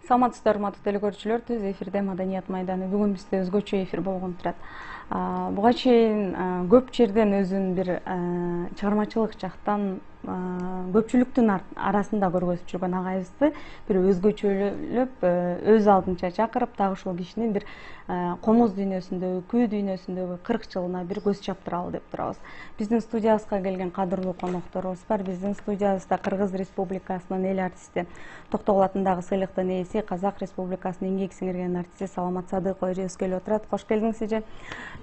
Саламатсыздар, урматтуу телекөрүүчүлөр. Түз эфирде Маданият майданы. Бүгүн бизде өзгөчө эфир болгон турат. Буга чейин көп жерден өзүн бир чыгармачылык жактан көпчүлүктүн арасында көргөзүп жүргөн агайыбызды бир өзгөчөлөп өз алдынча чакырып, дагы ушул кишинин бир комуз дүйнөсүндөгү, күү дүйнөсүндөгү 40 жылына бир көз чаптыралы деп турабыз. Биздин студиябызга келген кадырлуу конокторубуз бар. Биздин студиябызда Кыргыз Республикасынын эл артисти, Токтогул атындагы сыйлыктын ээси, Казак Республикасынын эмгек сиңирген артисти Саламат Садыкова эжебиз келип отурат. Кош келдиңиз эже.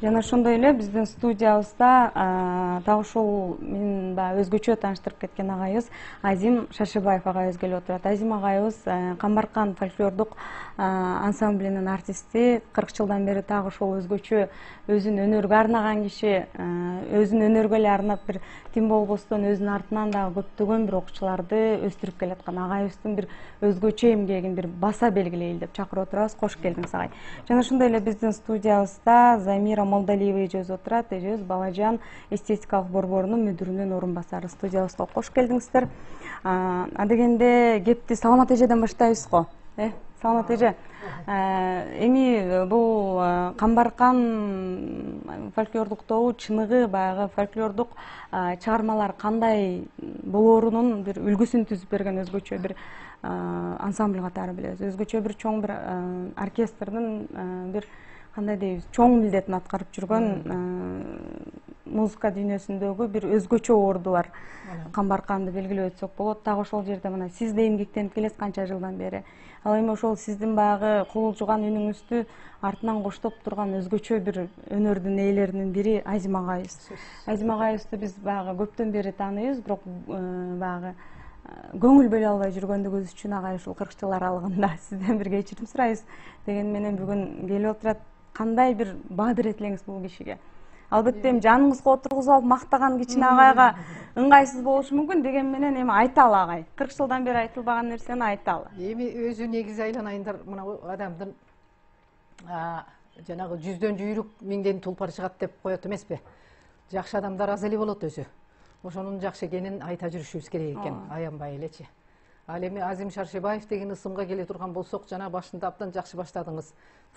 Жана ошондой эле биздин студиябызда дагы ушул мен баягы өзгөчө тааныштырып кеткен агайыбыз Азим Шаршыбаев агайыбыз келип отурат. Азим агайыбыз Камбаркан фольклордук ансамблинин артисти. 40 жылдан бери дагы ошол өзгөчө өзүн өнөргө арнаган киши, өзүн өнөргө эле арнап бир тим болбостон өзүнүн артынан дагы көптөгөн бир окуучуларды өстүрүп келаткан агайыбыздын бир өзгөчө эмгегин бир баса белгилейли деп чакырып отурабыз. Кош келдиңиз агай. Жана ошондой эле биздин студиябызда Замира Молдалиева эжебиз отурат. Эжебиз Балажан эстетикалык борборунун мүдүрүнүн орун басары. Студиябызга кош келдиңиздер. Адегенде кепти Саламат эжеден баштайбыз го. Саламат эже, эми бул Камбаркан фольклордук тобу чыныгы баягы фольклордук чыгармалар кандай болоорунун бир үлгүсүн түзүп берген өзгөчө бир ансамбль катары билебиз. Өзгөчө бир чоң бир оркестрдин бир кандай дейбиз, чоң милдетин аткарып жүргөн музыка дүйнөсүндөгү бир өзгөчө орду бар Камбарканды белгилеп өтсөк болот. Дагы ошол жерде мына сиз да эмгектенип келесиз канча жылдан бери. Ал эми ошол сиздин баягы кубулжуган үнүңүздү артынан коштоп турган өзгөчө бир өнөрдүн ээлеринин бири Азим агайыбыз. Азим агайыбызды биз баягы көптөн бери тааныйбыз, бирок баягы көңүл бөлө албай жүргөндүгүбүз үчүн агай ушул 40 жыл аралыгында сизден бир кечирим сурайбыз деген менен бүгүн келип отурат. Кандай бир баадыр этилеңиз бул кишиге? Албетте эми жаныңызга отургузуп алып мактаган кичине агайга ыңгайсыз болушу мүмкүн, деген менен эми айталы агай. 40 жылдан бери айтылбаган нерсени айталы. Эми өзү негизи айланайындар, мына адамдын жанагы жүздөн жүйрүк, миңден тулпар чыгат деп коет эмеспи? Жакшы адамдар аз эле болот өзү. Ошонун жакшы экенин айта жүрүшүбүз керек экен, аянбай элечи. Ал эми Азим Шаршыбаев деген ысымга келе турган болсок, жана башында абдан жакшы баштадыңыз.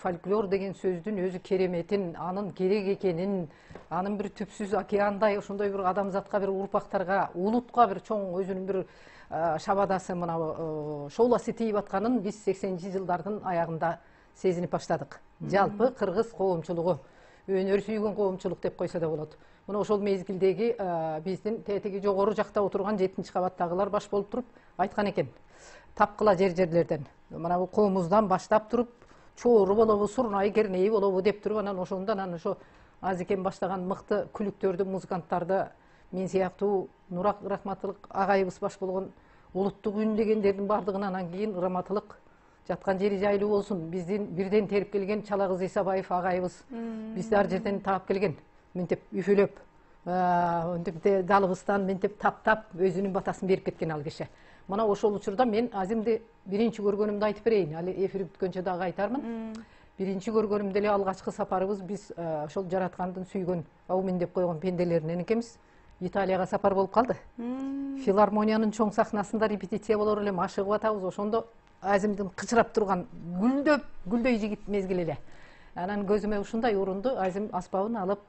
Фольклор деген сөздүн өзү кереметин, анын керек экенин, анын бир түпсүз океандай ошондой бир адамзатка, бир урпактарга, улутка бир чоң өзүнүн бир шабадасы мына шооласы тийип атканын биз 80-жылдардын аягында сезинип баштадык. Жалпы кыргыз коомчулугу, өнөр сүйгөн коомчулук деп койсо да болот. Мына ошол мезгилдеги биздин тетиги жогору жакта отурган 7-кабаттагылар баш болуп туруп айткан экен. Тапкыла жерлерден, мына бул комуздан баштап туруп, чоору болобу, сурнай кернеи болобу деп туруп, анан ошондон ошо Азикен баштаган мыкты күлүктөрдү, музыканттарды, мен сыяктуу Нурак Рахматылык агайыбыз баш болгон улуттук үн дегендердин бардыгына анан кийин Раматылык жаткан жери жайлуу болсун. Биздин бирден терип келген Чалагыз Исабаев агайыбыз бизди ар жерден таап келген. Мынтип үфөлөп, мынтип далыбыздан мынтип таптап өзүнүн батасын берип кеткен ал киши. Мына ошол учурда мен Азимди биринчи көргөнүмдү айтып берейин. Али эфир бүткөнчө дагы айтармын. Биринчи көргөнүмдө эле алгачкы сапарыбыз биз ошол жараткандын сүйгөн, аумин деп койгон пенделеринен экенбиз. Италияга сапар болуп калды. Филармониянын чоң сахнасында репетиция болор эле, машыгып атабыз. Ошондо Азимдин кычырап турган гүлдөй жигит мезгил эле. Анан көзүмө ушундай урунду. Азим аспабын алып,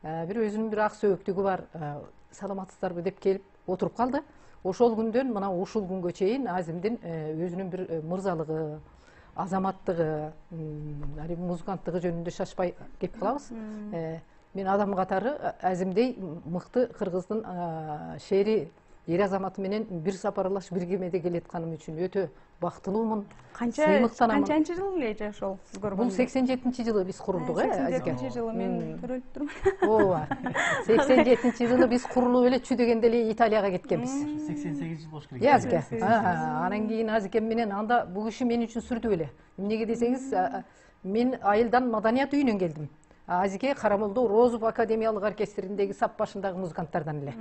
бир өзүнүн бир ак сөөктүгү бар, саламатсыздарбы деп келип отуруп калды. Ошол күндөн мына ушул күнгө чейин Азимдин өзүнүн бир мырзалыгы, азаматтыгы, музыканттыгы жөнүндө шашпай кеп калабыз. Мен адам катары Азимдей мыкты кыргыздын шери эр азаматы менен бир сапарлаш бир кемеде келатканым үчүн өтө бактылуумун. Канчанчы жыл эже ошол сиз көргөн? Бул 87-жылы биз курулдук, 87-жылы мен төрөлүп турмун. Ооба. 87-жылы биз курулуп эле дегенде эле Италияга кеткенбиз. 88 жыл болуш керек. Азике. Анан кийин Азикен менен анда бул киши мен үчүн сүрдү эле. Эмнеге десеңиз, мен айылдан Маданият үйүнөн келдим. Азике Карамолдо Розов академиялык оркестриндеги сап башындагы музыканттардан эле.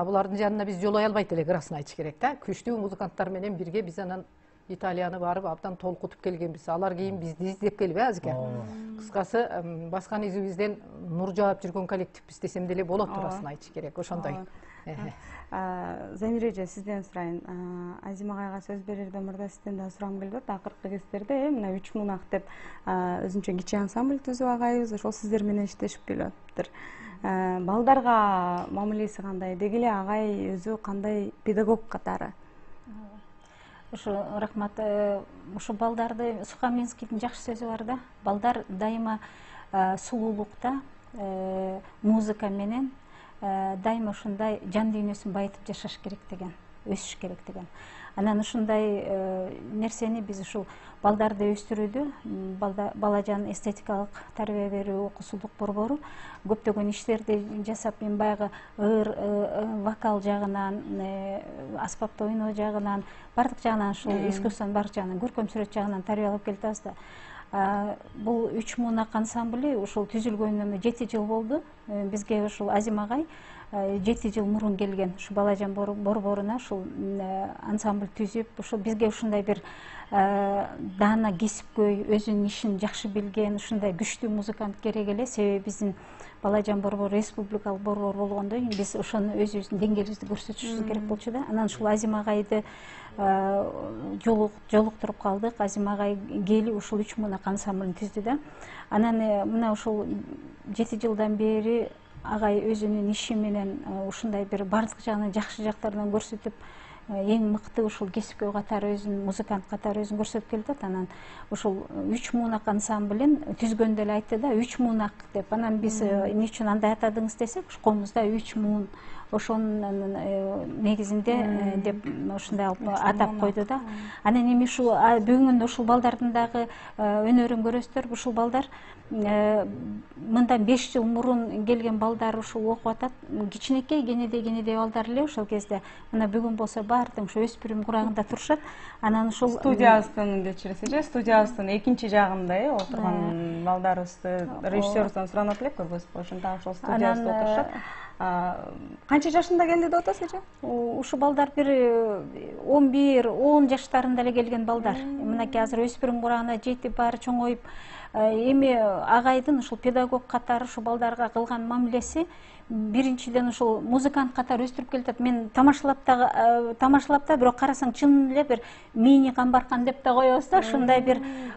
Булардын жанына биз жолой албайт эле, ырасын айтыш керек да. Күчтүү музыканттар менен бирге биз анан Италияны барып абдан толкутуп келгенбиз. Алар кийин бизди издеп келип, Азике. Кыскасы, баскан изибизден нур жаап жүргөн коллективбиз десем деле болот, ырасын айтыш керек. Ошондой. Замира эже, сизден сурайын. Азим агайга сөз берерден мурда сизден да сурагым келип атат. Акыркы кездерде мына 3 мунак деп өзүнчө кичи ансамбль түзүп агайыбыз, ошол сиздер менен иштешип келип атыптыр. Балдарга мамилеси кандай? Деги эле агай өзү кандай педагог катары? Ушу рахмат. Ушу балдарды Сухамлинскийдин жакшы сөзү бар да. Балдар дайыма сулуулукта, музыка менен дайыма ушундай жан дүйнөсүн байытып жашаш керек деген, өсүш керек деген. Анан ушундай нерсени биз ушул балдарды өстүрүүдө балажан эстетикалык тарбия берүү окуусулук борбору көптөгөн иштерди жасап, мен баягы ыр вокал жагынан, аспапта ойноо жагынан, бардык жагынан ушул искусствонун бардык жагынан, көркөм сүрөт жагынан тарбиялап келатабыз да. Бул 3 мунак ансамбли ушул түзүлгөнүнө 7 жыл болду. Бизге ушул Азим агай 7 жыл мурун келген, ушу балажан борборуна ушул ансамбль түзүп, ушул бизге ушундай бир даана кесипкөй, өзүнүн ишин жакшы билген, ушундай күчтүү музыкант керек эле. Себеби биздин балажан борбор республикалык борбор болгондон кийин биз ошону өзүбүздүн деңгээлибизди көрсөтүшүбүз керек болчу да. Анан ушул Азим агайды жолуктуруп калдык. Азим агай келип ушул 3 мунак ансамблын түздү да. Анан мына ушул 7 жылдан бери агай өзүнүн иши менен ушундай бир бардык жагынан жакшы жактарынан көрсөтүп, эң мыкты ушул кесипкөй катары өзүн, музыкант катары өзүн көрсөтүп келатат. Анан ушул 3 мунак ансамблин түзгөндө эле айтты да, 3 мунак деп. Анан биз эмне үчүн андай атадыңыз десек, комузда 3 муун, ошонун негизинде деп ушундай атап койду да. Анан эми ушул бүгүн ушул балдардын дагы өнөрүн көрөсүздөр. Ушул балдар мындан 5 жыл мурун келген балдар ушул окуп атат. Кичинекей, кенедей балдар эле ошол кезде. Мына бүгүн болсо баардык ушу өспүрүм курагында турушат. Анан ушул студиябыздын кечиресиз, студиябыздын экинчи жагында отурган балдарыбызды режиссерубуздан суранат элек, көрбөйсүзбү? Ошондо ошол студиябызда отурушат. Канча жашында келди деп атасыз эже? Ушу балдар бир 11-10 жаштарында эле келген балдар. Мынакей азыр өспүрүм курагына жетип, баары чоңоюп, эми агайдын ушул педагог катары ушу балдарга кылган мамилеси биринчиден ушул музыкант катары өстүрүп келатат. Мен тамашалап да, бирок карасаң чын эле бир мини камбаркан деп да коебуз да.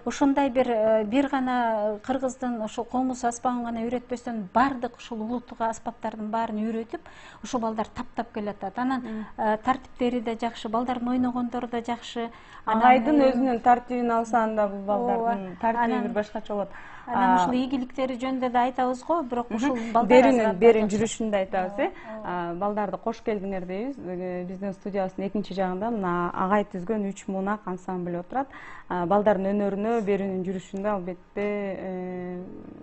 Ушундай бир гана кыргыздын ушул комуз аспабын гана үйрөтпөстөн бардык ушул улуттук аспаптардын баарын үйрөтүп, ушул балдар таптап келатат. Анан тартиптери да жакшы, балдардын ойногондору да жакшы. Агайдын өзүнүн тартибин алсаң да бул балдардын тартиби бир башкача болот. Анан ушул ийгиликтери жөнүндө да айтабыз го, бирок ушул балдар берин жүрүшүндө айтабыз, балдарды кош келдиңер дейбиз. Биздин студиябыздын экинчи жагында мына агай түзгөн 3 мунак ансамбль отурат. Балдардын өнөрүнө, берүүнүн жүрүшүндө албетте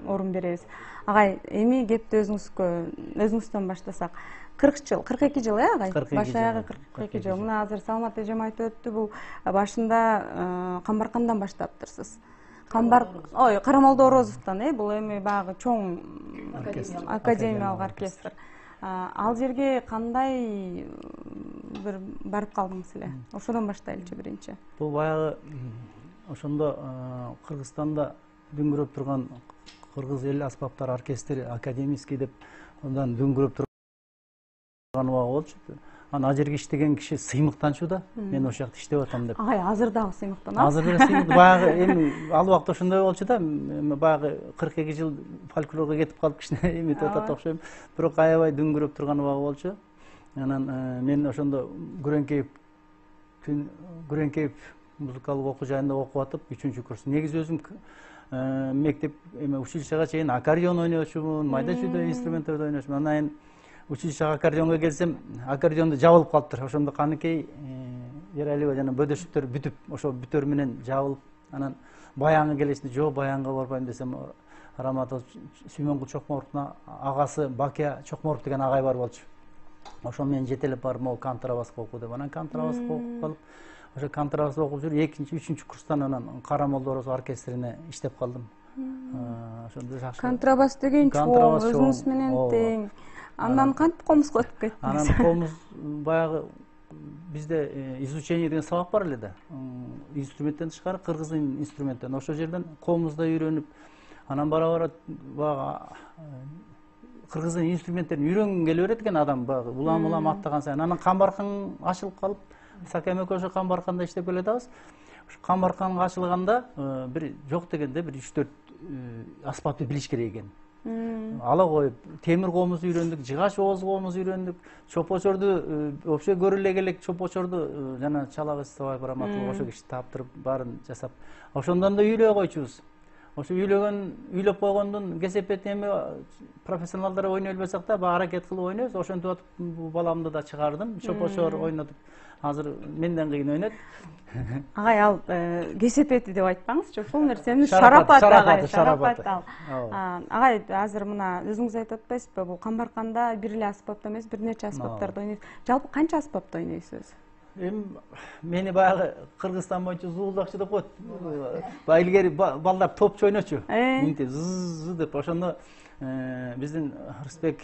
орун беребиз. Агай, эми кепти өзүңүздөн баштасак. 40 жыл, 42 жыл, агай? Баш аягы 42 жыл. Мына азыр Салмат эжем айтып өттү, бул башында Камбаркандан баштаптырсыз. Карамолдо Орозовдон, бул эми баягы чоң академиялык оркестр. Ал жерге кандай бир барып калдыңыз эле? Ошодон баштайлычы биринчи. Бул баягы ошондо Кыргызстанда дүңгүрөп турган Кыргыз эл аспаптар оркестри академический деп андан дүңгүрөп турган убагы болчу. Анан ал жерге иштеген киши сыймыктанчу да, мен ошол жакта иштеп атам деп. Агай, азыр дагы сыймыктанат? Азыр деле сыймыктан. Баягы эми ал убакта ошондой болчу да, баягы 42 жыл фольклорго кетип калып кичине эметип атат окшойм. Бирок аябай дүңгүрөп турган убагы болчу. Анан мен ошондо Күрөңкеев музыкалык окуу жайында окуп атып, 3-курс. Негизи өзүм мектеп училищега чейин аккордеон ойночумун, майда чүйдө инструменттерди ойночумун. Анан училищега аккордеонго келсем, аккордеонду жабылып калыптыр. Ошондо каныкей Эралиева жана бөдөшүктөр бүтүп, ошо бүтөр менен жабылып, анан баянга келешинде жок, баянга барбайм десем, Раматов Сүймөнгүл Чокморовдун агасы Бакия Чокморов деген агай бар болчу. Ошо менен жетелеп барып, могу контрабаска окуу деп. Анан контрабаска окуп калып, ошо контрабаска окуп жүрүп, 2-3 курстан анан Карамолдо Орозов оркестрине иштеп калдым. Ошондо жакшы. Контрабас деген чоң, өзүңүз менен тең. Андан кантип комузга өтүп кеттиңиз? Анан комуз баягы бизде изучение деген сабак бар эле да. Инструменттен тышкары кыргыздын инструменттен. Ошол жерден комузда үйрөнүп, анан бара баягы кыргыздын инструменттерин үйрөнгүн келе берет экен адам, баягы улам аттаган сайын. Анан камбаркан ачылып калып, Сакем экөөбүз ошо камбарканда иштеп келатабыз. Ошо камбаркан ачылганда бир жок дегенде бир 3-4 аспапты билиш керек экен. Ала коюп, темир коомузду үйрөндүк, жыгач оозгоомузду үйрөндүк, чопочорду вообще көрө эле элек чопочорду жана Чалабыз Ставай Бараматов ошо киши таптырып баарын жасап, ошондон да үйлөй койчубуз. Ошо үйлөп койгондон кесепет эми профессионалдар ойной албасак да баягы аракет кылып ойнойбуз. Ошентип атып баламды да чыгардым, чопочор ойнотуп. Азыр менден кыйын ойнойт. Агай, ал кесепети деп айтпаңызчы, ушул нерсени шарапаты агай, шарапаты ал. Агай, азыр мына өзүңүз айтып атпайсызбы, бул камбарканда бир эле аспапта эмес, бир нече аспаптарды ойнойсуз. Жалпы канча аспапта ойнойсуз? Эми мени баягы Кыргызстан боюнча зуулдакчы деп коет. Баягы илгери балдар топчу ойночу. Мынтип зыз деп ошондо биздин Рысбек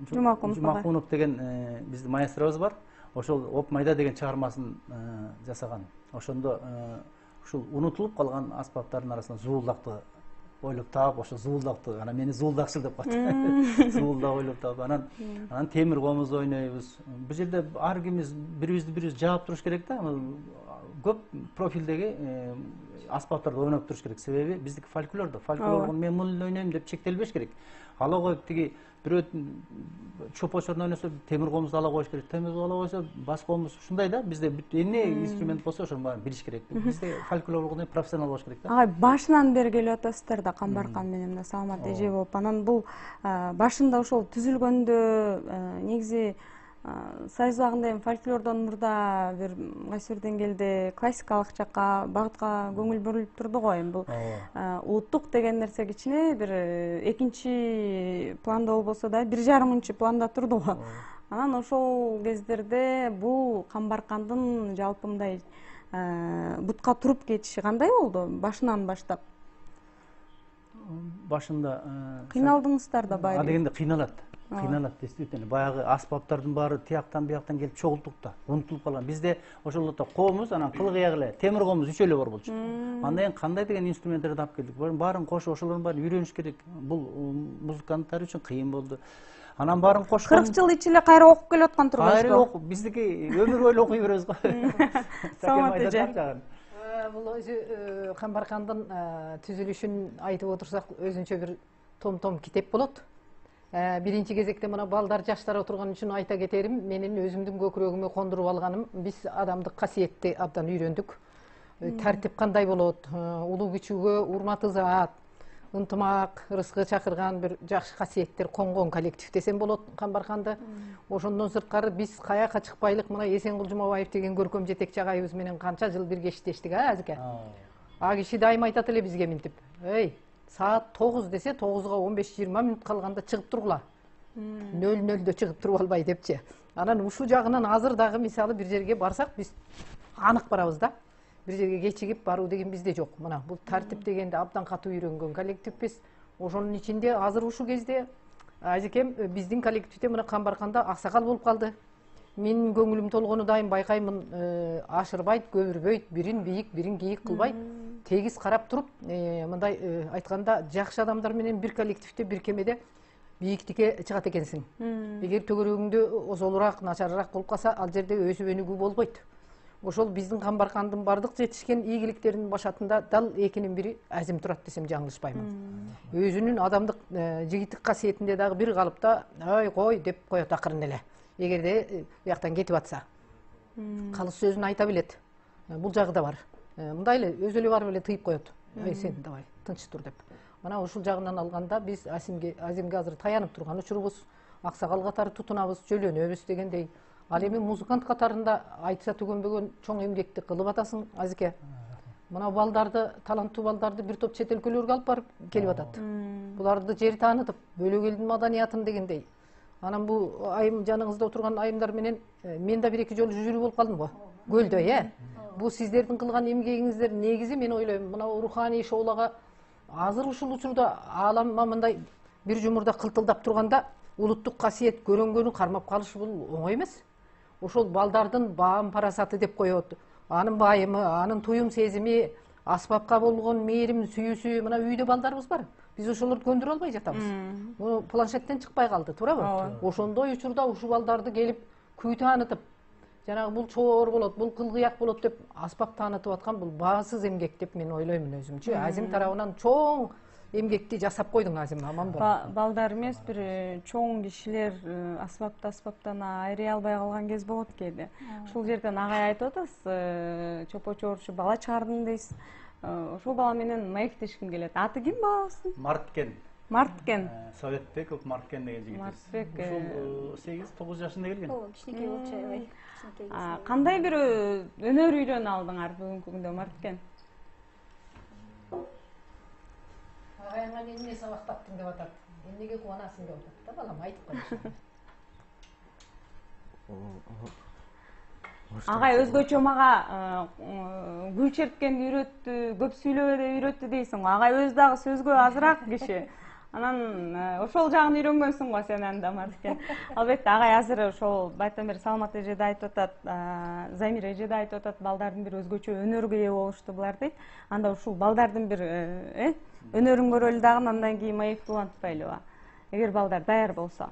Жумакунов деген биздин маэстробуз бар. Ошол Оп майда деген чыгармасын жасаган. Ошондо ушул унутулуп калган аспаптардын арасынан зуулдакты ойлоп таап, ошо зуулдакты, анан мени зуулдакчыл деп коет. Зуулдак ойлоп таап, анан темир коомузду ойнойбуз. Бул жерде ар кимибиз бирибиз жаап туруш керек да. Көп профилдеги аспаптарды ойноп туруш керек. Себеби биздики фольклордо мен муну ойнойм деп чектелбеш керек. Ала коюп тиги бирөө чопочорду ойносо темир коомузду ала коюш керек. Темир ала койсо бас коомуз ушундай да. Бизде эмне инструмент болсо ошонун баарын билиш керек. Бизде фольклордо профессионал болуш керек да. Агай, башынан бери келип атасыздар да камбаркан менен мына саламат эже болуп. Анан бул башында ошол түзүлгөндө негизи Союз убагында эми фольклордон мурда бир кайсы бир деңгээлде классикалык жакка багытка көңүл бурулуп турду го. Эми бул улуттук деген нерсе кичине бир экинчи планда болбосо да 1,5 планда турду го. Анан ошол кездерде бул камбаркандын жалпы мындай бутка туруп кетиши кандай болду башынан баштап? Башында кыйналдыңыздар да баары. Дегенде кыйналат действительно. Баягы аспаптардын баары тияктан бияктан келип чогултук да, унутулуп калган. Бизде ошолдо коомуз, анан кыл кыяк эле темир коомуз 3 эле бар болчу. Андан кийин кандай деген инструменттерди алып келдик. Баарын кошуп, ошолордун баарын үйрөнүш керек. Бул музыканттар үчүн кыйын болду. Анан баарын кошкон 40 жыл ичинде кайра окуп келип аткан турбайсызбы? Кайра окуп, биздики өмүр бою окуй беребиз го. Саламат эже. Бул өзү камбаркандын түзүлүшүн айтып отурсак өзүнчө бир том китеп болот. Биринчи кезекте мына балдар, жаштар отурган үчүн айта кетерим, менин өзүмдүн көкүрөгүмө кондуруп алганым, биз адамдык касиетти абдан үйрөндүк. Тартип кандай болот, улуу кичүүгө урмат ызаат, ынтымак, рызкы чакырган бир жакшы касиеттер конгон коллектив десем болот камбарканды. Ошондон сырткары биз каяка чыкпайлык, мына Эсенкул Жумабаев деген көркөм жетекчи агайыбыз менен канча жыл бирге иштештик, Азике. Киши дайыма айтат эле бизге мынтип, эй, саат 9 десе 9га 15-20 мүнөт калганда чыгып тургула. 00'дө чыгып туруп албай депчи. Анан ушул жагынан азыр дагы мисалы бир жерге барсак биз анык барабыз да. Бир жерге кечигип баруу деген бизде жок. Мына бул тартип дегенде абдан катуу үйрөнгөн коллективбиз. Ошонун ичинде азыр ушул кезде Азекем биздин коллективде мына камбарканда аксакал болуп калды. Менин көңүлүм толгону дайым байкаймын, ашырбайт, көбүрбөйт, бирин бийик, бирин кийик кылбайт. Тегиз карап туруп, мындай айтканда жакшы адамдар менен бир коллективде, бир кемеде бийиктикке чыгат экенсиң. Эгер төгөрөгүңдө озолураак, начарыраак болуп калса, ал жерде өсүп өнүгүү болбойт. Ошол биздин камбаркандын бардык жетишкен ийгиликтеринин башатында дал экинин бири Азим турат десем жаңылышпаймын. Өзүнүн адамдык жигиттик касиетинде дагы бир калыпта, ой кой деп коет акырын эле. Эгерде бияктан кетип атса, калыс сөзүн айта билет. Бул жагы да бар. Мындай эле өзү эле барып эле тыйып коет. Ой сен давай тынч тур деп. Мына ушул жагынан алганда биз Азимге азыр таянып турган учурубуз, аксакал катары тутунабыз, жөлөнөбүз дегендей. Ал эми музыкант катарында айтса түгөнбөгөн чоң эмгекти кылып атасың, Азике. Мына балдарды, таланттуу балдарды бир топ чет өлкөлөргө алып барып келип атат. Буларды жер таанытып, бөлөк элдин маданиятын дегендей. Анан бул айым жаныңызда отурган айымдар менен мен да бир-эки жолу жүрүү болуп калдым го. Көлдө, Бул сиздердин кылган эмгегиңиздер негизи мен ойлойм, мына руханий шоуларга азыр ушул учурда ааламга мындай бир жумурда кылтылдап турганда улуттук касиет көрөнгөнү кармап калыш бул оңой эмес. Ошол балдардын баам парасаты деп коет. Анын байымы, анын туюм сезими, аспапка болгон мээрим, сүйүүсү, мына үйдө балдарыбыз бар. биз ошолорду көндүрө албай жатабыз. Бул планшеттен чыкпай калды, туурабы? Ошондой учурда ушул балдарды келип күй таанытып, жанагы бул чоор болот, бул кылгыяк болот деп аспап таанытып аткан бул баасыз эмгек деп мен ойлоймун өзүмчү. Азим тарабынан чоң эмгекти жасап койдуң Азим, аман бол. Балдар эмес, бир чоң кишилер аспаптан айрый албай калган кез болот кээде. Ушул жерден агай айтып атасыз, чопо чоорчу бала чыгардым дейсиз. Ошол бала менен маектешким келет. Аты ким балабыздын? Марткен. Марткен. Советбеков Марткен деген жигит. Мартбек. Ушул 8-9 жашында келген. Кичинекей болчу, аябай. Кандай бир өнөр үйрөнүп алдыңар бүгүнкү күндө, Марткен? Агайыңа эмне сабактаттың деп атат. Эмнеге кубанасың деп атат да балам, айтып койчу. Агай өзгөчө мага гүл черткенди үйрөттү, көп сүйлөбөдө үйрөттү дейсиң го. Агай өзү дагы сөзгө азыраак киши. Анан ошол жагын үйрөнгөнсүң го сен анда, Марткен. Албетте агай азыр ошол байтан бери Саламат эже да айтып атат, Замир эже да айтып атат, балдардын бир өзгөчө өнөргө ээ болушту булар дейт. Анда ушул балдардын бир өнөрүн көрөлү дагы, андан кийин маекти улантпайлыбы? Эгер балдар даяр болсо.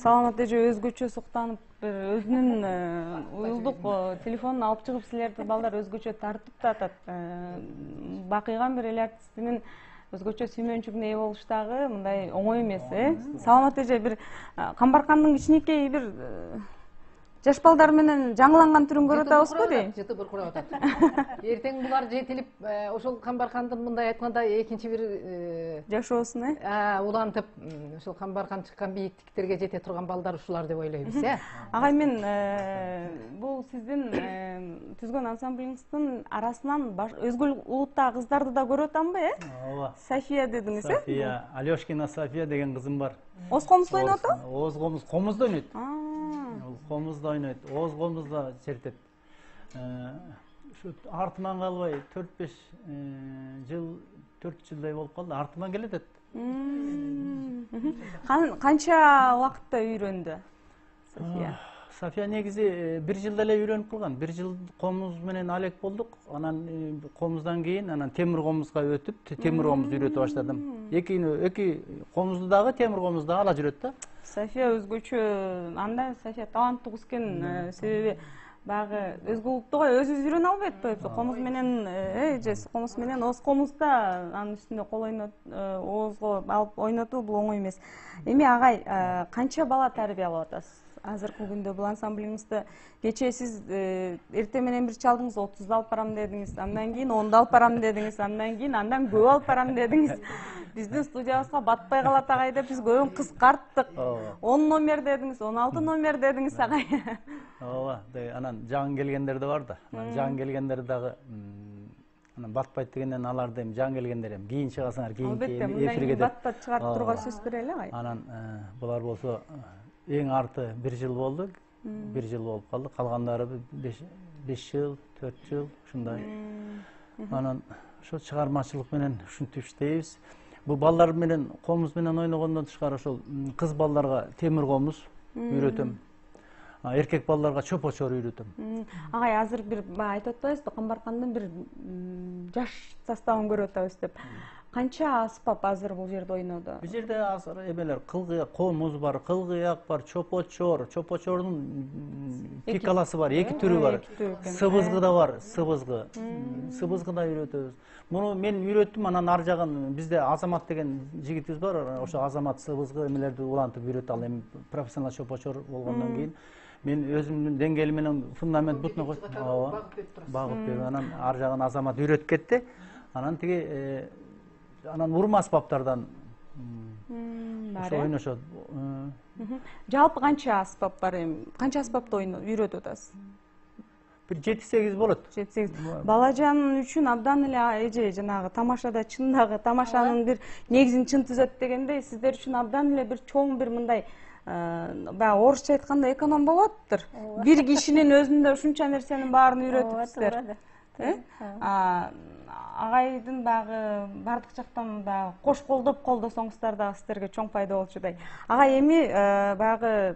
Саламат эже өзгөчө суктанып, бир өзүнүн уюлдук телефонун алып чыгып силерди балдар өзгөчө тартып да атат. Бакыйган бир эл артистинин өзгөчө сүймөнчүгүнө ээ болуш дагы мындай оңой эмес, Саламат эже бир Камбаркандын кичинекей бир жаш балдар менен жаңыланган түрүн көрүп атабызбы дейм. Жыты буркурап атат. Эртең булар жетилип, ошол Камбаркандын мындай айтканда экинчи бир жашоосун, улантып, ошол Камбаркан чыккан бийиктиктерге жете турган балдар ушулар деп ойлойбуз, Агай, мен бул сиздин түзгөн ансамблиңиздин арасынан өзгө улуттагы кыздарды да көрүп атамбы, Ооба. София дедиңиз, София, Алёшкина София деген кызым бар. Оз комузда ойноп атабы? Оз комуз, комузда ойнойт. Комузда ойнойт, оз комузда чертет. Ушу артыман калбай 4-5 жыл, 4 жылдай болуп калды, артыман келет. Канча убакытта үйрөндү София? София негизи 1 жылда эле үйрөнүп калган. 1 жыл комуз менен алек болдук. Анан комуздан кийин анан темир комузга өтүп, темир комуз үйрөтө баштадым. Эки комузду дагы, темир комузду дагы ала жүрөт да. София өзгөчө, анда София таланттуу кыз экен, себеби баягы өзгө улуттуга өзүбүз үйрөнө албайт атпайбызбы? Комуз менен, комуз менен оз комузда анын үстүндө кол оозго алып ойнотуу бул оңой эмес. Эми агай, канча бала тарбиялап атасыз? азыркы күндө бул ансамблиңизде кечээ сиз эртең менен бир чалдыңыз, 30 алып барам дедиңиз, андан кийин 10 алып барам дедиңиз, андан кийин андан көп алып барам дедиңиз. Биздин студиябызга батпай калат агай деп биз көбүн кыскарттык. 10 номер дедиңиз, 16 номер дедиңиз агай. Ооба, анан жаңы келгендер да бар да. Жаңы келгендер дагы анан батпайт дегенден аларды эми жаңы келгендер эми кийин чыгасыңар, кийин эфирге деп батпат чыгарып турууга сөз берели агай. Анан булар болсо эң арты 1 жыл болду. 1 жыл болуп калды. Калгандары 5 жыл, 4 жыл ушундай. Анан ошо чыгармачылык менен ушинтип иштейбиз. Бул балдар менен, комуз менен ойногондон тышкары ошол кыз балдарга темир комуз үйрөтөм. Эркек балдарга чопочор үйрөтөм. Агай азыр бир айтып атпайсызбы, Камбаркандын бир жаш составын көрүп атабыз деп. Канча аспап азыр бул жерде ойнодо? Бул жерде азыр эмелер кылгыяк, комуз бар, кылгыяк бар, чопочор, чопочордун пикаласы бар, 2 түрү бар. Сыбызгы да бар, сыбызгы. Сыбызгы да үйрөтөбүз. Муну мен үйрөттүм, анан ар жагын бизде Азамат деген жигитибиз бар. Ошо Азамат сыбызгы эмелерди улантып үйрөтүп ал эми профессионал чопочор болгондон кийин мен өзүмдүн деңгээли менен фундамент бутуна багып берип анан ар жагын Азамат үйрөтүп кетти. Анан тиги анан урма аспаптардан ошо ойношот. Жалпы канча аспап бар эми? Канча аспапты үйрөтүп атасыз? Бир 7-8 болот. 7-8. Балажан үчүн абдан эле эже жанагы тамашада чындагы тамашанын бир негизин чын түзөт дегендей, сиздер үчүн абдан эле бир чоң бир мындай баягы орусча айтканда эконом болуп атыптыр. Бир кишинин өзүндө ушунча нерсенин баарын үйрөтүпсүздөр. Агайдын баягы бардык жактан баягы кош колдоп колдосоңуздар дагы сиздерге чоң пайда болчудай. Агай эми баягы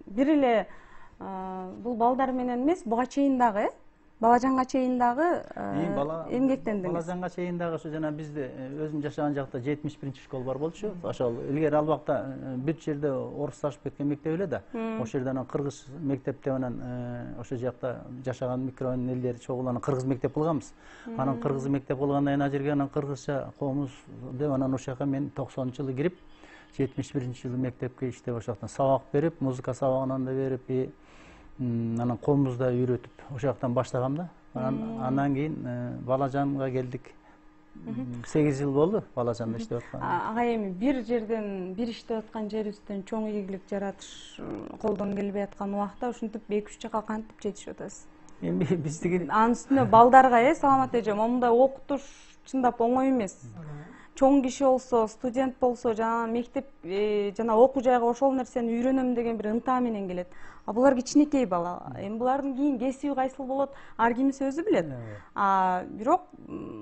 бир эле бул балдар менен эмес, буга чейин дагы, Балажанга чейин дагы эмгектендиңиз. Балажанга чейин дагы ошо жана бизде өзүм жашаган жакта 71 школа бар болчу. Ошол илгери ал убакта бүт жерде орусташып кеткен мектеп эле да. Ошол жерде анан кыргыз мектеп деп анан ошол жакта жашаган микрорайондун элдери чогулуп кыргыз мектеп кылганбыз. Анан кыргыз мектеп кылгандан кийин ал жерге анан кыргызча комуз деп анан ошол жака мен 90-жылы кирип 71-жылы мектепке иштеп ошол жактан сабак берип, музыка сабагынан да берип, анан комузда үйрөтүп ошол жактан баштагам да. Андан кийин Балажанга келдик. 8 жыл болду Балажанда иштеп аткан. Агай эми бир жерден, бир иштеп аткан жерибизден чоң ийгилик жаратыш колдон келбей аткан убакта ушинтип 2-3 жака кантип жетишип атасыз? Эми биздики анын үстүнө балдарга саламат эже, момундай окутуш чындап оңой эмес. Чоң киши болсо, студент болсо, жана мектеп жана окуу жайга ошол нерсени үйрөнөм деген бир ынта менен келет. А булар кичинекей бала. Эми булардын кийин кесиби кайсыл болот, ар кимиси өзү билет. Бирок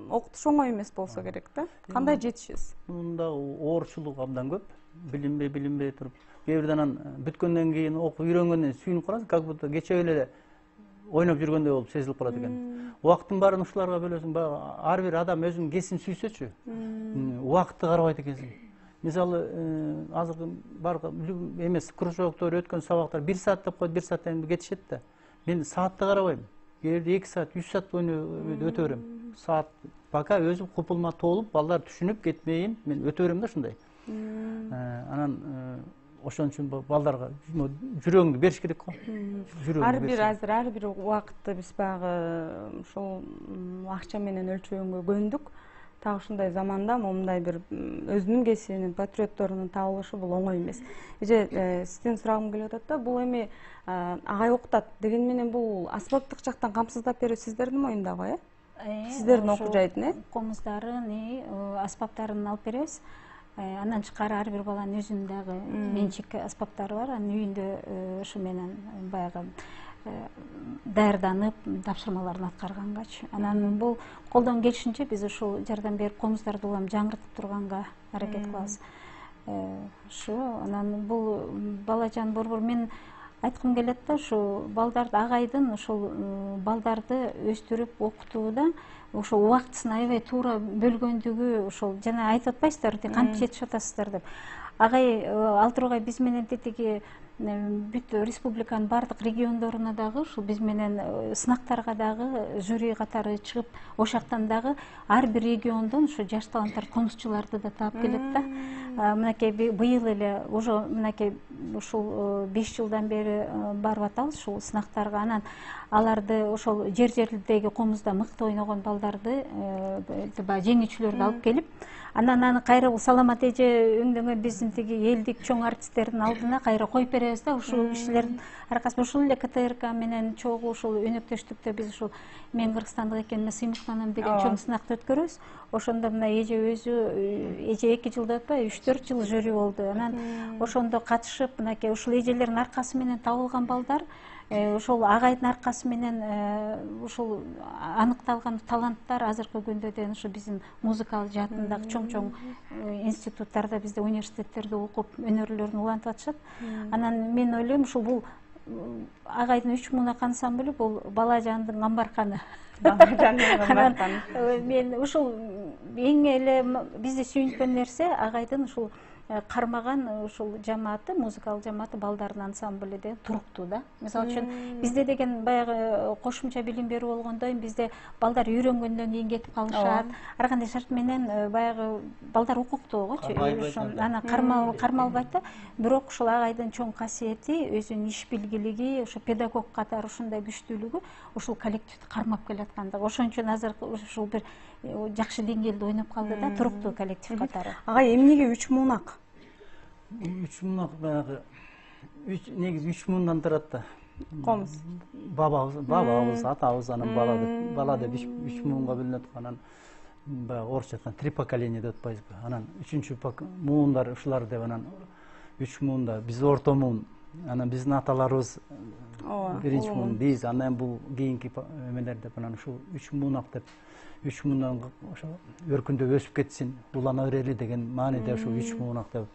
окутуш оңой эмес болсо керек да. Кандай жетишесиз? Мында оорчулук абдан көп. Билинбей туруп, кээ бирде анан бүткөндөн кийин окуп үйрөнгөндөн сүйүнүп каласың, как будто кече эле ойноп жүргөндөй болуп сезилип калат экен. Убакыттын баарын ушуларга бөлөсүң, ар бир адам өзүнүн кесибин сүйсөчү, убакытты карабайт экенсиң. Мисалы, азыркы бар эмес кружоктор өткөн сабактар 1 саат деп коет, 1 сааттан кетишет да. Мен саатты карабайм. Кээ бирде 2 саат, 3 саат өтө берем. Саат пока өзүм купулма толуп, балдар түшүнүп кетпейин, мен өтө берем да ушундай. Анан ошон үчүн балдарга жүрөгүңдү бериш керек го. Ар бир убакытты биз баягы ушул акча менен өлчөгөнгө көндүк. Так ушундай заманда момундай бир өзүнүн кесибинин, патриотторунун табылышы бул оңой эмес. Эже, сизден сурагым келип атат да, бул эми агай окутат деген менен бул аспаптык жактан камсыздап берүү сиздердин моюндагы, сиздердин окуу жайдын, комуздарын, аспаптарын алып беребиз. Андан тышкары ар бир баланын өзүнүн дагы менчик аспаптары бар. Анын үйүндө ушу менен баягы даярданып тапшырмаларын аткаргангачы. Анан бул колдон келишинче биз ушул жардам берип комуздарды улам жаңыртып турганга аракет кылабыз. Ушу анан бул Балажан борбор мен айткым келет да, ушу балдарды агайдын ушул балдарды өстүрүп окутууда ошол убактысын аябай туура бөлгөндүгү, ошол жана айтып атпайсыздар кантип жетишип атасыздар деп. Агай ал тургай биз менен тетиги бүт республиканын бардык региондоруна дагы ушул биз менен сынактарга дагы жюри катары чыгып, ошактан дагы ар бир региондон ушу жаш таланттар, комузчуларды да таап келет да. Мынакей быйыл эле уже мынакей ушул 5 жылдан бери барып атабыз ушул сынактарга. Анан аларды ошол жер-жердеги комузда мыкты ойногон балдарды баягы жеңүүчүлөрдү алып келип, анан аны кайра бул Саламат эже өңдөгөн биздин тиги элдик чоң артисттердин алдына кайра коюп беребиз да. Ушул кишилердин аркасында ушул эле КТРК менен чогуу ушул өнөктөштүктө биз ушул мен кыргызстандык экениме сыймыктанам деген чоң сынакты өткөрөбүз. Ошондо мына эже өзү, эже 2 жылда өтпөй 3-4 жыл жюри болду. Анан ошондо катышып, мынакей ушул эжелердин аркасы менен табылган балдар, ошол агайдын аркасы менен ушул аныкталган таланттар азыркы күндө да ушу биздин музыкалык жаатындагы чоң институттарда, бизде университеттерде окуп өнөрлөрүн улантып атышат. Анан мен ойлойм, ушул бул агайдын 3 муунак ансамблы бул бала жандын камбарканы. Мен ушул эң эле бизди сүйүнткөн нерсе агайдын ушул кармаган ушул жамааты, музыкалык жамааты, балдардын ансамблы деген туруктуу да. Мисалы үчүн бизде деген баягы кошумча билим берүү болгондон бизде балдар үйрөнгөндөн кийин кетип калышат. Ар кандай шарт менен баягы балдар укуктугучу, анан кармалбайт да. Бирок ушул агайдын чоң касиети, өзүнүн иш билгилиги, ошо педагог катары ушундай күчтүүлүгү ушул коллективди кармап келаткандыгы. Ошон үчүн азыр ушул бир жакшы деңгээлде ойноп калды да, туруктуу коллектив катары. Агай эмнеге 3 муунак? 3 муунак баягы негизи 3 муундан турат да. Комуз. Бабабыз, атабыз, анан бала деп 3 муунга бөлүнөт. Анан баягы орусча айтканда 3 поколение деп атпайбызбы. Анан 3-чү муундар ушулар деп, анан 3 муунда биз орто муун. Анан биздин аталарыбыз биринчи муун, биз, анан бул кийинки эмелер деп, анан ушул 3 муунак деп 3 муундан ошо өркүндөп өсүп кетсин, улана берели деген мааниде ушул 3 муунак деп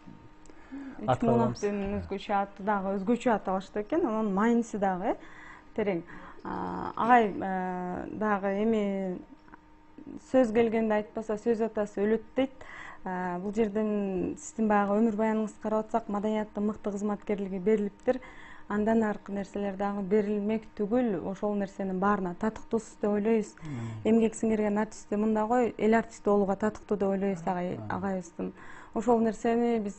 3 муунактын өзгөчө аты дагы өзгөчө аталышты экен, анын майнысы дагы терең. Агай дагы эми сөз келгенде айтпаса сөз атасы өлөт дейт. Бул жерден сиздин баягы өмүр баяныңызды карап атсак, маданияттын мыкты кызматкерлиги берилиптир. Андан аркы нерселер дагы берилмек түгүл, ошол нерсенин баарына татыктуусуз деп ойлойбуз. Эмгек сиңирген артист мында кой, эл артисти болууга татыктуу деп ойлойбуз агайыбыздын. Ошол нерсени биз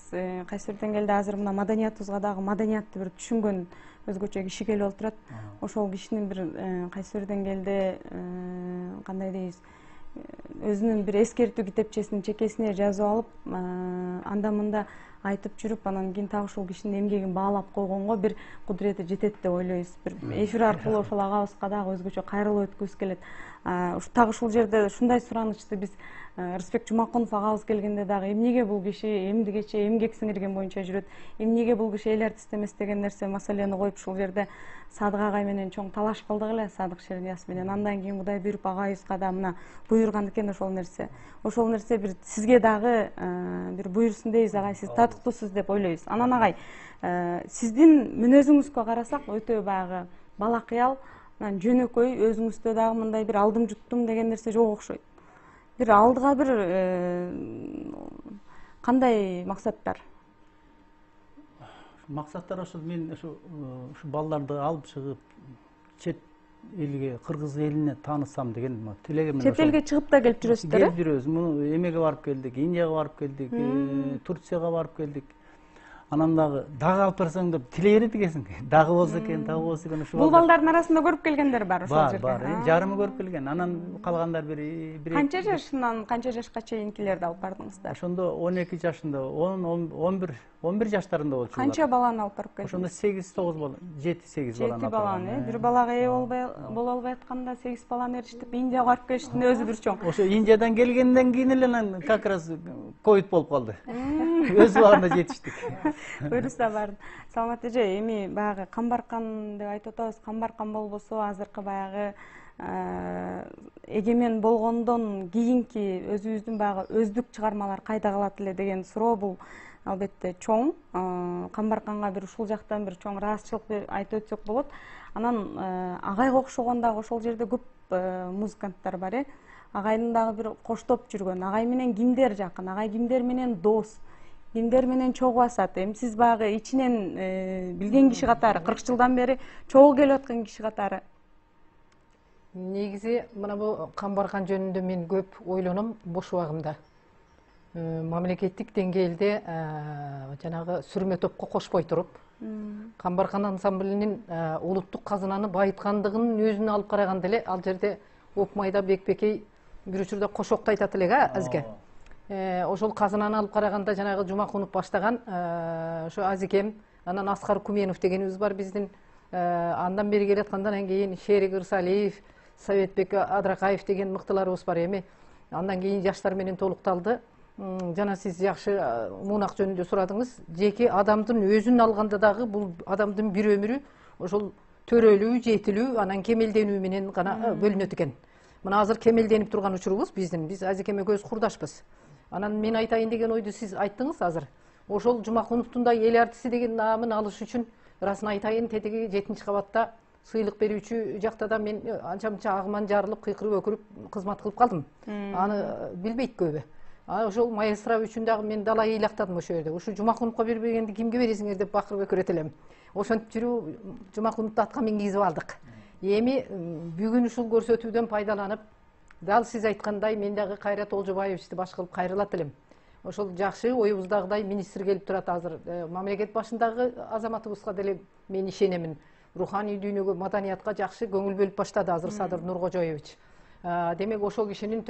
кайсы бир деңгээлде азыр мына маданиятыбызга дагы маданиятты бир түшүнгөн өзгөчө киши келип отурат. Ошол кишинин бир кайсы бир деңгээлде кандай дейбиз, өзүнүн бир эскертүү китепчесин чекесине жазып алып, анда мында айтып жүрүп, анан кийин так ушул кишинин эмгегин баалап койгонго бир кудурети жетет деп ойлойбуз. Бир эфир аркылуу ошол агабызга дагы өзгөчө кайрылып өткүбүз келет. Так ушул жерде ушундай суранычты биз Рысбек Жумакунов агабыз келгенде дагы эмнеге бул киши эмдигече эмгек сиңирген боюнча жүрөт, эмнеге бул киши эл артист эмес деген нерсе маселени коюп ушул жерде Садык агай менен чоң талаш кылдык эле, Садык Шернияз менен. Андан кийин Кудай буйруп агайыбызга да мына буйруган экен ошол нерсе. Ошол нерсе бир сизге дагы бир буйрсун дейбиз агай, сиз татыктуусуз деп ойлойбуз. Анан агай, сиздин мүнөзүңүзгө карасак өтө баягы балакыял, анан жөнөкөй, өзүңүздө дагы мындай бир алдым жуттум деген нерсе жок окшойт. Бир алдыга бир кандай максаттар? Максаттар ошол мен ушу балдарды алып чыгып чет элге, кыргыз элине таанысам деген тилегим. Чет элге чыгып да келип жүрөсүздөр? Келип жүрөбүз. Муну эмеге барып келдик, Индияга барып келдик, Турцияга барып келдик. Анан дагы алып барсаң деп тилей берет экенсиң. Дагы болсо экен, дагы болсо экен. Бул балдардын арасында көрүп келгендер бар ошол жерде. Бар, жарымы көрүп келген. Анан калгандар бир канча жашынан канча жашка чейинкилерди алып бардыңыздар? Ошондо 12 жашында, 11 жаштарында болчу. Канча баланы алып барып келдиңиз? Ошондо 8-9 бала, 7-8 баланы. 7 баланы, бир балага ээ боло албай атканда 8 баланы эриштип Индияга барып келиштин өзү бир чоң. Ошо Индиядан келгенден кийин эле анан как раз ковид болуп калды. Өз убагында жетиштик. Буйруса бардым. Саламат эже, эми баягы камбаркан деп айтып атабыз. Камбаркан болбосо азыркы баягы эгемен болгондон кийинки өзүбүздүн баягы өздүк чыгармалар кайда калат эле деген суроо бул албетте чоң. Камбарканга бир ушул жактан бир чоң ыраазычылык айтып өтсөк болот. Анан агайга окшогон дагы ошол жерде көп музыканттар бар. Агайдын дагы бир коштоп жүргөн, агай менен кимдер жакын, агай кимдер менен дос, кимдер менен чогуу басат? Эми сиз баягы ичинен билген киши катары, 40 жылдан бери чогуу келип аткан киши катары. Негизи мына бул камбаркан жөнүндө мен көп ойлоном бош убагымда. мамлекеттик деңгээлде жанагы сүрмө топко кошпой туруп Камбаркан ансамблинин улуттук казынаны байыткандыгынын өзүнө алып караганда эле ал жерде Опмайда Бекбекей бир учурда кошокто айтат элек азике. Ошол казынаны алып караганда жанагы Жумакунов баштаган ошо Азикем, анан Аскар Куменов дегенибиз бар биздин, андан бери келаткандан кийин Шерик Ырсалиев, Советбек Адракаев деген мыктыларыбыз бар эми. Андан кийин жаштар менен толукталды. Жана сиз жакшы мунак жөнүндө сурадыңыз. Жеке адамдын өзүн алганда дагы бул адамдын бир өмүрү ошол төрөлүү, жетилүү, анан кемелденүү менен гана бөлүнөт экен. Мына азыр кемелденип турган учурубуз биз Азикем экөөбүз курдашпыз. Анан мен айтайын деген ойду сиз айттыңыз азыр. Ошол Жумакуновдун да эл артисти деген наамын алыш үчүн ырасын айтайын, тетиги 7-кабатта сыйлык берүүчү жакта да мен анча-мынча агыман жарылып, кыйкырып өкүрүп кызмат кылып калдым. Аны билбейт көбү. Ошол маэстро үчүн дагы мен далай ыйлактадым ошол жерде. Ушу Жумакуновго бербегенди кимге бересиңер деп бакырып өкүрөт элем. Ошентип жүрүп Жумакуновду атка мингизип алдык. Эми бүгүн ушул көрсөтүүдөн пайдаланып, дал сиз айткандай мен дагы Кайрат Олжобаевичти баш кылып кайрылат элем. Ошол жакшы оюбуздагыдай министр келип турат азыр. Мамлекет башындагы азаматыбызга деле мен ишенемин. Руханий дүйнөгө, маданиятка жакшы көңүл бөлүп баштады азыр Садыр Нуркожоевич. Демек ошол кишинин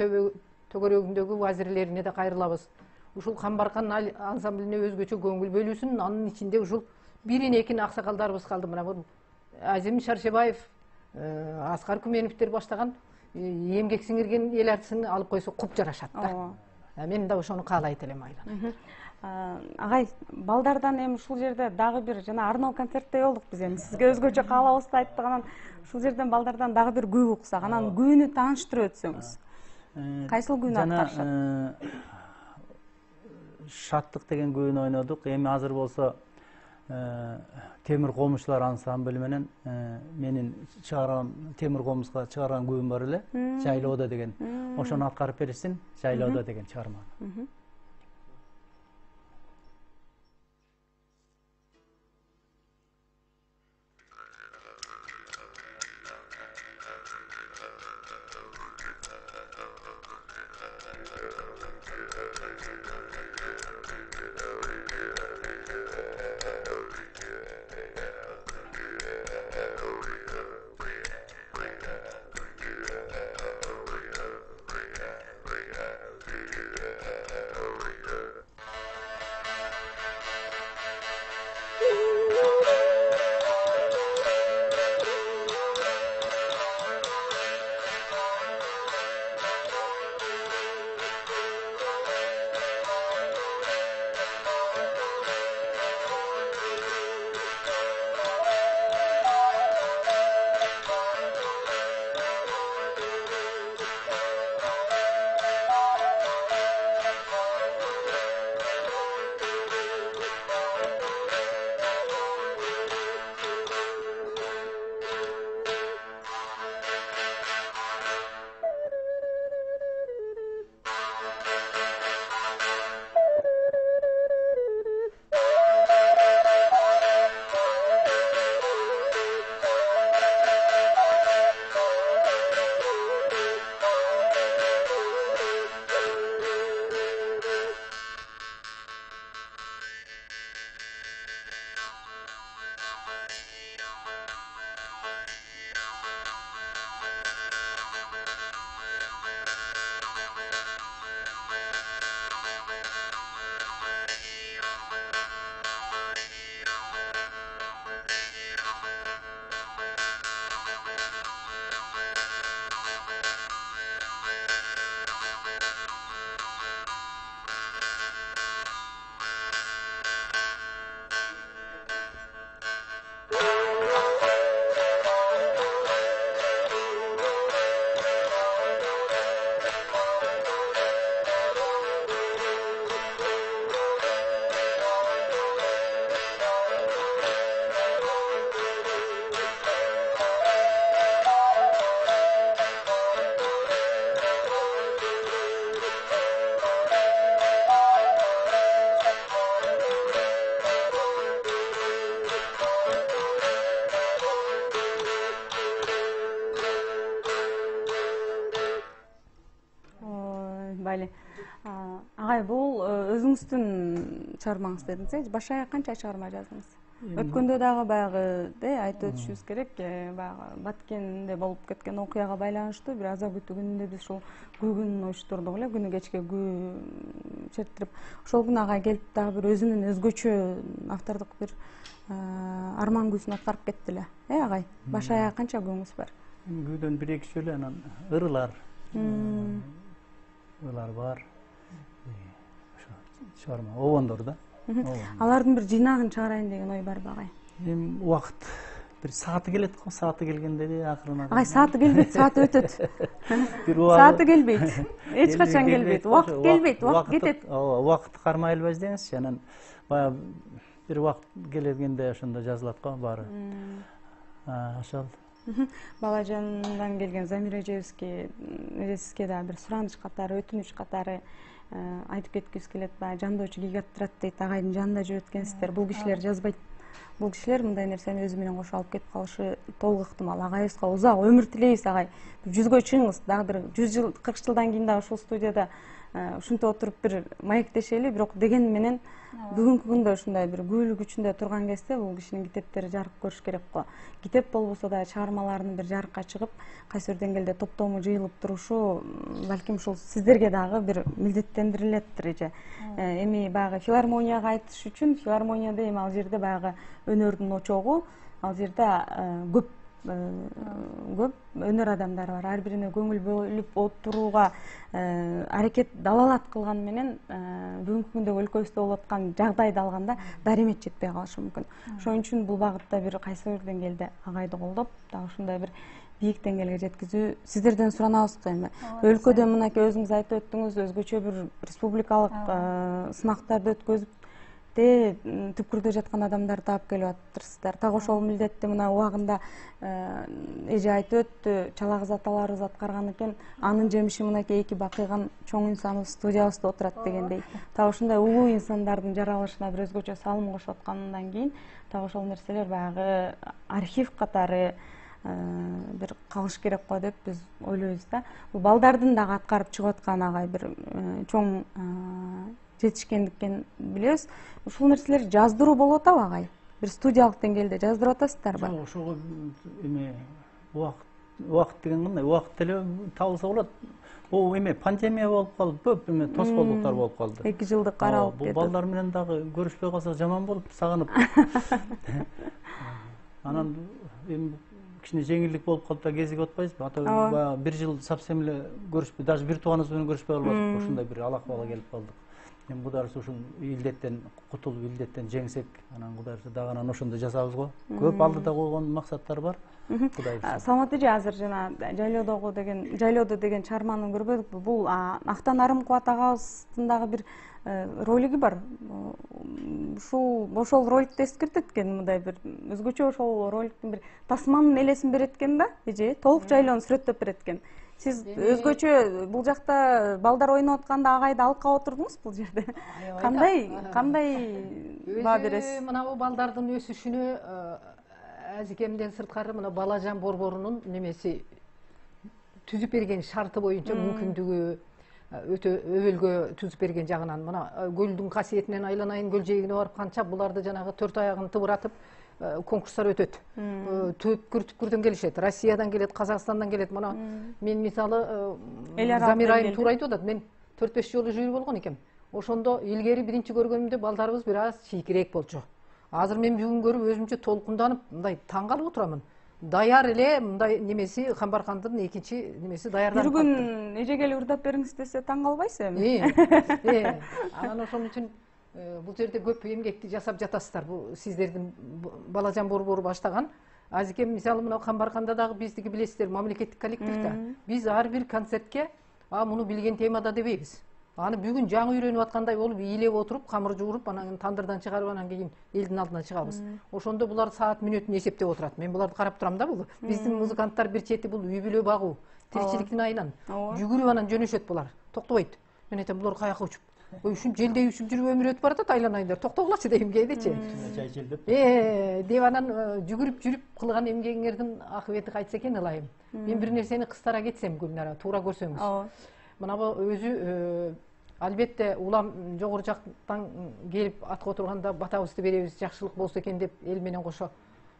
төгөрөгүндөгү вазирлерине да кайрылабыз. Ушул Камбаркан ансамблине өзгөчө көңүл бөлүүсүн, анын ичинде ушул бирин-экин аксакалдарыбыз калды. Мына бул Азим Шаршебаев, Аскар Күменовдер баштаган эмгек сиңирген эл артисин алып койсо куп жарашат да. Мен да ошону каалайт элем Айлан. Агай, балдардан эми ушул жерде дагы бир жана арноо концертте болдук биз эми. Сизге өзгөчө каалабызды айттык, анан ушул жерден балдардан дагы бир күй уксак, анан күйүнү тааныштырып өтсөңүз. Кайсыл күйүнү аткарышат? Шаттык деген күйүнү ойнодук. Эми азыр болсо Темир Комузчулар ансамбль менен менин чыгарган Темир Комузга чыгарган күйүм бар эле, Жайлоодо деген. Ошону аткарып беришсин, Жайлоодо деген чыгарма. Бали. Агай, бул өзүңүздүн чыгармаңыз дедиңиз. Баш аяк канча чыгарма жаздыңыз? Өткөндө дагы баягы айтып өтүшүбүз керек, баягы Баткенде болуп кеткен окуяга байланыштуу бир аза күтүү күнүндө биз ушул күн уюштурдук эле, күнү кечке күү чертирип. Ошол күнү агай келип дагы бир өзүнүн өзгөчө автордук бир арман күүсүн аткарып кетти эле. Агай, баш аяк канча күүңүз бар? Күүдөн 1-2 эле, анан ырылар. Ырылар бар. Ошо чыгарма, обондор да. Алардын бир жыйнагын чыгарайын деген ой барбы агай? Эми убакыт бир сааты келет го, сааты келгенде акырына. Агай, сааты келбейт, сааты өтөт. Сааты келбейт. Эч качан келбейт. Убакыт келбейт, убакыт кетет. Ооба, убакытты кармай элбайбыз деңизчи. Анан баягы бир убакыт келгенде ошондо жазылат го баары. Ошол. Балажандан келген Замира эжебизге сизге дагы бир сураныч катары, өтүнүч катары айтып кеткибиз келет. Баягы жандоочу кийик аттырат дейт, агайдын жанында жүрүп өткөнсүздөр. Бул кишилер жазбайт. Бул кишилер мындай нерсени өзү менен кошо алып кетип калышы толук ыктымал. Агайыбызга узак өмүр тилейбиз, агай. Жүзгө чыгыңыз, дагы бир 100 жыл, 40 жылдан кийин дагы ушул студияда ушинтип отуруп бир маектешели, бирок деген менен бүгүнкү күндө ушундай бир күбөлүк үчүндө турган кезде бул кишинин китептери жарык көрүш керек го. Китеп болбосо да чыгармаларынын бир жарыкка чыгып, кайсы бир деңгээлде топтому жыйылып турушу балким ушул сиздерге дагы бир милдеттендирилеттир эже. Эми баягы филармонияга айтыш үчүн, филармонияда эми ал жерде баягы өнөрдүн очогу, ал жерде көп өнөр адамдары бар. Ар бирине көңүл бөлүп отурууга аракет далалат кылган менен бүгүнкү күндөгү өлкөбүздө болуп аткан жагдайды алганда даремет жетпей калышы мүмкүн. Ошон үчүн бул багытта бир кайсы бир деңгээлде агайды колдоп, дагы ушундай бир бийик деңгээлге жеткизүү сиздерден суранабыз го эми. Өлкөдө мынакей өзүңүз айтып өттүңүз, өзгөчө бир республикалык сынактарды өткөзүп түпкүрдө жаткан адамдарды алып келип атыптырсыздар. Так ошол милдетти мына убагында эже айтып өттү, чала кыз аталарыбыз аткарган экен. Анын жемиши мынакей 2 бакыйган чоң инсаныбыз студиябызда отурат дегендей. Так ошондой улуу инсандардын жаралышына бир өзгөчө салым кошуп аткандан кийин так ошол нерселер баягы архив катары бир калыш керек го деп биз ойлойбуз да. Бул балдардын дагы аткарып чыгып аткан агай бир чоң жетишкендикин билебиз. Ушул нерселер жаздыруу болуп атабы агай? Бир студиялык деңгээлде жаздырып атасыздарбы? Жок, ошого эме убакыт деген кандай? Убакыт эле табылса болот. Бул эме пандемия болуп калды, көп эме тоскоолдуктар болуп калды. 2 жылдык аралык кетти. Бул балдар менен дагы көрүшпөй калсак жаман болуп, сагынып. Анан эми кичине жеңилдик болуп калып да кезигип атпайбызбы? Ата 1 жыл совсем эле көрүшпөй, даже бир тууганыбыз менен көрүшпөй калбадык. Ушундай бир алакыбалга келип калдык. Эми Кудай ырса ушул илдеттен кутулуп, илдеттен жеңсек, анан Кудай ырса дагы анан ошондой жасабыз го. Көп алдыда койгон максаттар бар. Кудай ырса. Саламат эже, азыр жана жайлоодо деген чыгарманы көрбөдүкпү? Бул Актан Арымкубат агабыздын дагы бир ролиги бар. Ошол роликти эскертет экен, мындай бир өзгөчө ошол роликтин бир тасманын элесин берет экен да, эже, толук жайлоону сүрөттөп берет экен. Сиз өзгөчө бул жакта балдар ойноп атканда агайды алып калып отурдуңуз бул жерде. Кандай баа бересиз? Мына балдардын өсүшүнө Азикемден сырткары мына Балажан борборунун немеси түзүп берген шарты боюнча мүмкүндүгү өтө өбөлгө түзүп берген жагынан мына көлдүн касиетинен айланайын көл жээгине барып канча буларды жанагы 4 аягын тыбыратып конкурстар өтөт. Түпкүрдөн келишет, Россиядан келет, Казакстандан келет. Мына мен мисалы Замир айым туура айтып атат. Мен 4-5 жолу жүйүр болгон экем. Ошондо илгери биринчи көргөнүмдө балдарыбыз бир аз чийкирээк болчу. Азыр мен бүгүн көрүп өзүмчө толкунданып мындай таң калып отурам. Даяр эле мындай немеси Камбаркандын экинчи немеси даярданып калды. Бир күн эже келип ырдап бериңиз десе таң калбайсыз эми? Анан ошон үчүн бул жерде көп эмгекти жасап жатасыздар. Бул сиздердин Балажан борбору баштаган. Азикем мисалы мына Камбарканда дагы биздики билесиздер, мамлекеттик коллектив да. Биз ар бир концертке муну билген темада дебейбиз. Аны бүгүн жаңы үйрөнүп аткандай болуп ийлеп отуруп, камыр жууруп, анан тандырдан чыгарып анан кийин элдин алдына чыгабыз. Ошондо булар саат мүнөтүн эсептеп отурат. Мен буларды карап турам да, бул биздин музыканттар бир чети бул үй бүлө багуу, тиричиликтин айынан жүгүрүп анан жөнөшөт булар. Токтобойт. Мен айтам, булар каяка учуп? Ой, ушун желдей учуп жүрүп өмүр өтүп баратат, айланайындар. Токтогулачы дейм кээдечи. Жай желдеп. Деп анан жүгүрүп жүрүп кылган эмгегиңердин акыбети кайтса экен ылайым. Мен бир нерсени кыстара кетсем, Гүлнара, туура көрсөңүз. мына өзү албетте улам жогору жактан келип атка отурганда батабызды беребиз, жакшылык болсо экен деп эл менен кошо.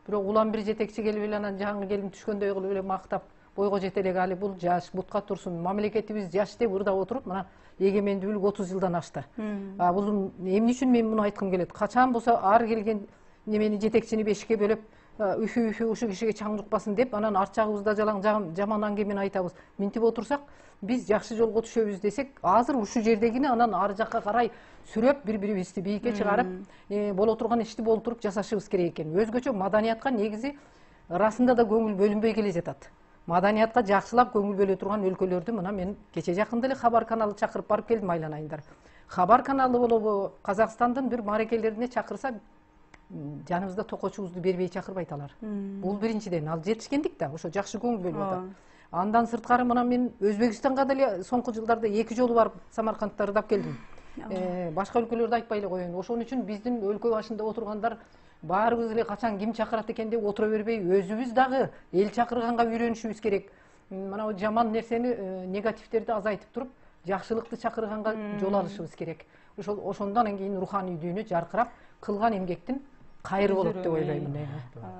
Бирок улам бир жетекчи келип эле анан жаңы келин түшкөндөй кылып эле мактап, бойго жете элек, али бул жаш, бутка турсун, мамлекетибиз жаш деп ырдап отуруп, мына эгемендүүлүк 30 жылдан ашты. Бул эмне үчүн мен муну айткым келет? Качан болсо ар келген немени жетекчини бешикке бөлөп, үфү ушу кишиге чаң жукпасын деп, анан арт жагыбызда жаман аңгемени айтабыз. Минтип отурсак, биз жакшы жолго түшөбүз десек, азыр ушул жердегини анан ар жакка карай сүрөп, бири-бирибизди бийикке чыгарып, боло турган ишти болтуруп жасашыбыз керек экен. Өзгөчө маданиятка негизи ырасында да көңүл бөлүнбөй келе жатат. Маданиятка жакшылап көңүл бөлө турган өлкөлөрдү мына мен кече жакында эле Хабар каналы чакырып барып келдим, айланайындар. Хабар каналы болобу, Казакстандын бир маарекелерине чакырса, жаныбызда токочубузду бербей чакырбайт алар. Бул биринчиден, ал жетишкендик да, ошо жакшы көңүл бөлүп атат. Андан сырткары мына мен Өзбекстанга деле соңку жылдарда 2 жолу барып Самаркандда ырдап келдим. Башка өлкөлөрдү айтпай эле коеюн. Ошон үчүн биздин өлкө башында отургандар баарыбыз эле качан ким чакырат экен деп отура бербей, өзүбүз дагы эл чакырганга үйрөнүшүбүз керек. Мына жаман нерсени, негативтерди азайтып туруп, жакшылыкты чакырганга жол алышыбыз керек. Ошондон кийин руханий дүйнө жаркырап, кылган эмгектин кайры болот деп ойлоймун.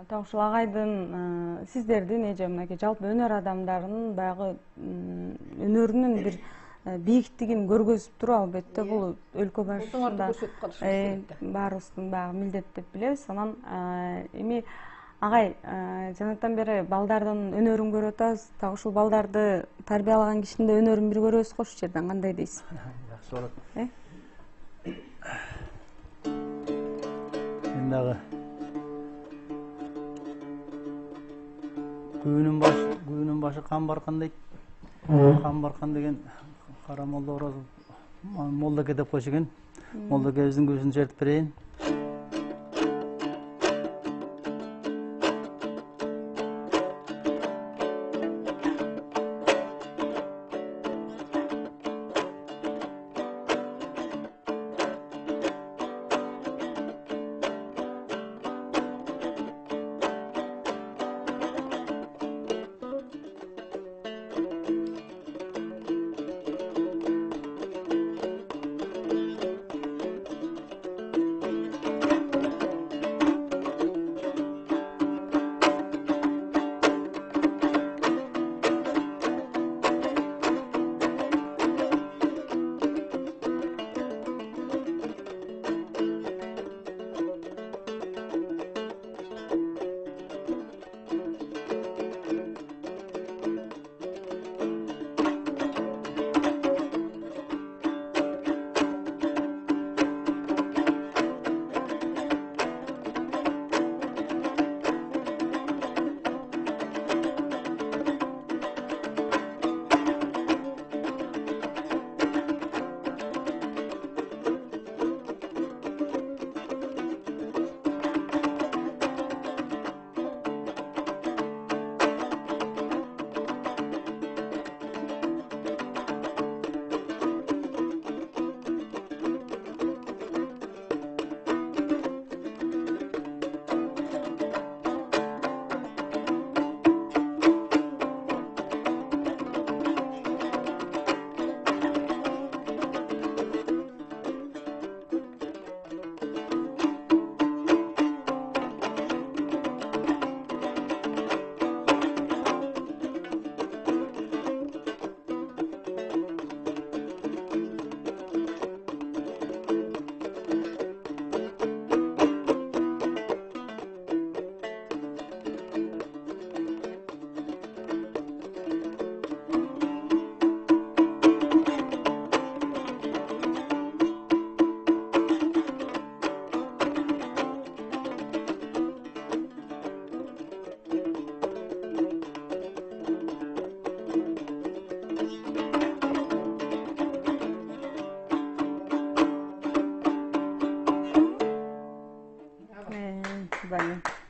Так ушул агайдын, сиздердин эже мынакей жалпы өнөр адамдарынын баягы өнөрүнүн бир бийиктигин көргөзүп туруп, албетте бул өлкө башында баарыбыздын баягы милдет деп билебиз. Анан эми агай, жанатан бери балдардын өнөрүн көрүп атабыз. Так ушул балдарды тарбиялаган кишинин да өнөрүн бир көрөбүз го ушул жерден, кандай дейсиз? Жакшы болот. Мен дагы күнүн башы кан баркан дейт. Кан баркан деген кара молдо Орозов молдоке деп койчу экен. Молдокебиздин күбүсүн чертип берейин.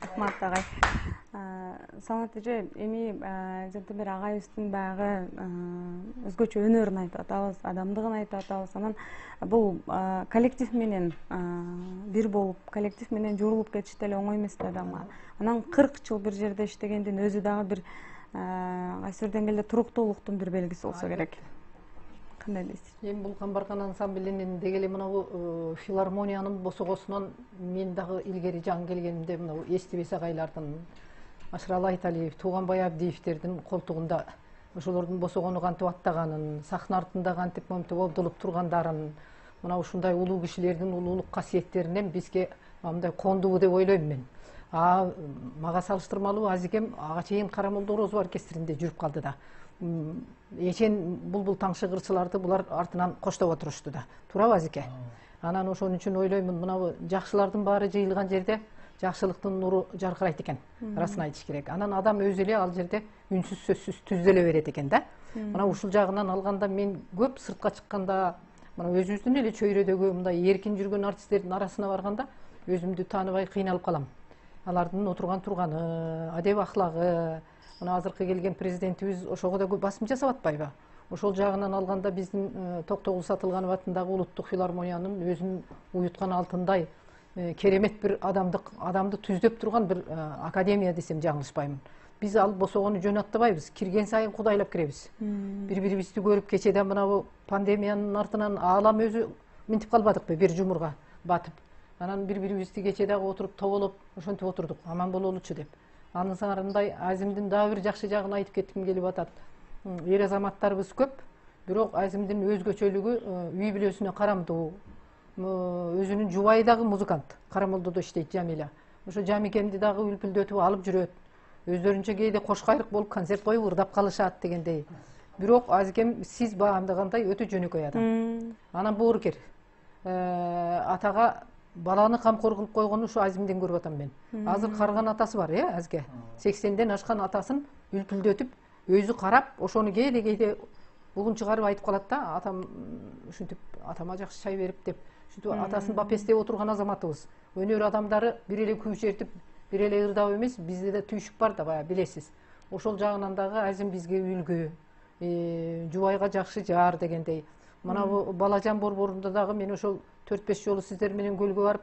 Рахмат агай. Самат эже, эми жанагы бир агайыбыздын баягы өзгөчө өнөрүн айтып атабыз, адамдыгын айтып атабыз. Анан бул коллектив менен бир болуп, коллектив менен журулуп кетиш деле оңой эмес да адамга. Анан 40 жыл бир жерде иштегендин өзү дагы бир кайсы бир деңгээлде туруктуулуктун бир белгиси болсо керек. кандай дейсиз? Эми бул Камбаркан ансамблинин деги эле мынабу филармониянын босогосунан мен дагы илгери жаңы келгенимде мынабу Эстибес агайлардын, Ашыралы Айталиев, Тууганбай Абдиевтердин колтугунда ошолордун босогону кантип аттаганын, сахна артында кантип момтип обдулуп тургандарын, мына ушундай улуу кишилердин улуулук касиеттеринен бизге мындай кондубу деп ойлойм мен. Мага салыштырмалуу Азикем ага чейин Карамолдо Орозов оркестринде жүрүп калды да. Эчен булбул таңшы кырчыларды булар артынан коштоп отурушту да. Туурабы Азике? Анан ошон үчүн ойлоймун, мынабу жакшылардын баары жыйылган жерде жакшылыктын нуру жаркырайт экен. Арасын айтыш керек. Анан адам өзү эле ал жерде үнсүз сөзсүз түздөлө берет экен да. Мына ушул жагынан алганда мен көп сыртка чыкканда, мына өзүбүздүн эле чөйрөдөгү мындай эркин жүргөн артисттердин арасына барганда өзүмдү тааныбай кыйналып калам. Алардын отурган турганы, адеп ахлагы, мына азыркы келген президентибиз ошого да көп басым жасап атпайбы? Ошол жагынан алганда биздин Токтогул Сатылганов атындагы улуттук филармониянын өзүн уюткан алтындай керемет бир адамды түздөп турган бир академия десем жаңылышпаймын. Биз ал босогону жөн аттабайбыз, кирген сайын кудайлап киребиз. Бири-бирибизди көрүп кечеде мынабу пандемиянын артынан аалам өзү минтип калбадыкпы, бир жумурга батып. Анан бири-бирибизди кече дагы отуруп тоболоп ошентип отурдук, аман бололучу деп. Анын сарындай Азимдин дагы бир жакшы жагын айтып кетким келип атат. Эр азаматтарыбыз көп, бирок Азимдин өзгөчөлүгү үй бүлөсүнө карамдуу. Өзүнүн жубайы дагы музыкант, Карамолдодо иштейт Жамиля. Ошо Жамикемди дагы үлпүлдөтүп алып жүрөт. Өздөрүнчө кээде кош кайрык болуп концерт коюп ырдап калышат дегендей. Бирок Азикем сиз баамдагандай өтө жөнөкөй адам. Анан боорукер. Атага баланы камкор кылып койгону ушу Азимден көрүп атам мен. Азыр карган атасы бар, Азге. 80ден ашкан атасын үлпүлдөтүп, өзү карап, ошону кээде бугун чыгарып айтып калат да, атам ушинтип атама жакшы чай берип деп, ушинтип атасын бапестеп отурган азаматыбыз. Өнөр адамдары бир эле күй чертип, бир эле ырдап эмес, бизде да түйшүк бар да, баягы билесиз. Ошол жагынан дагы Азим бизге үлгү, жубайга жакшы жаар дегендей. Мына бу Балажан борборунда дагы мен ошол 4-5 жолу сиздер менен көлгө барып,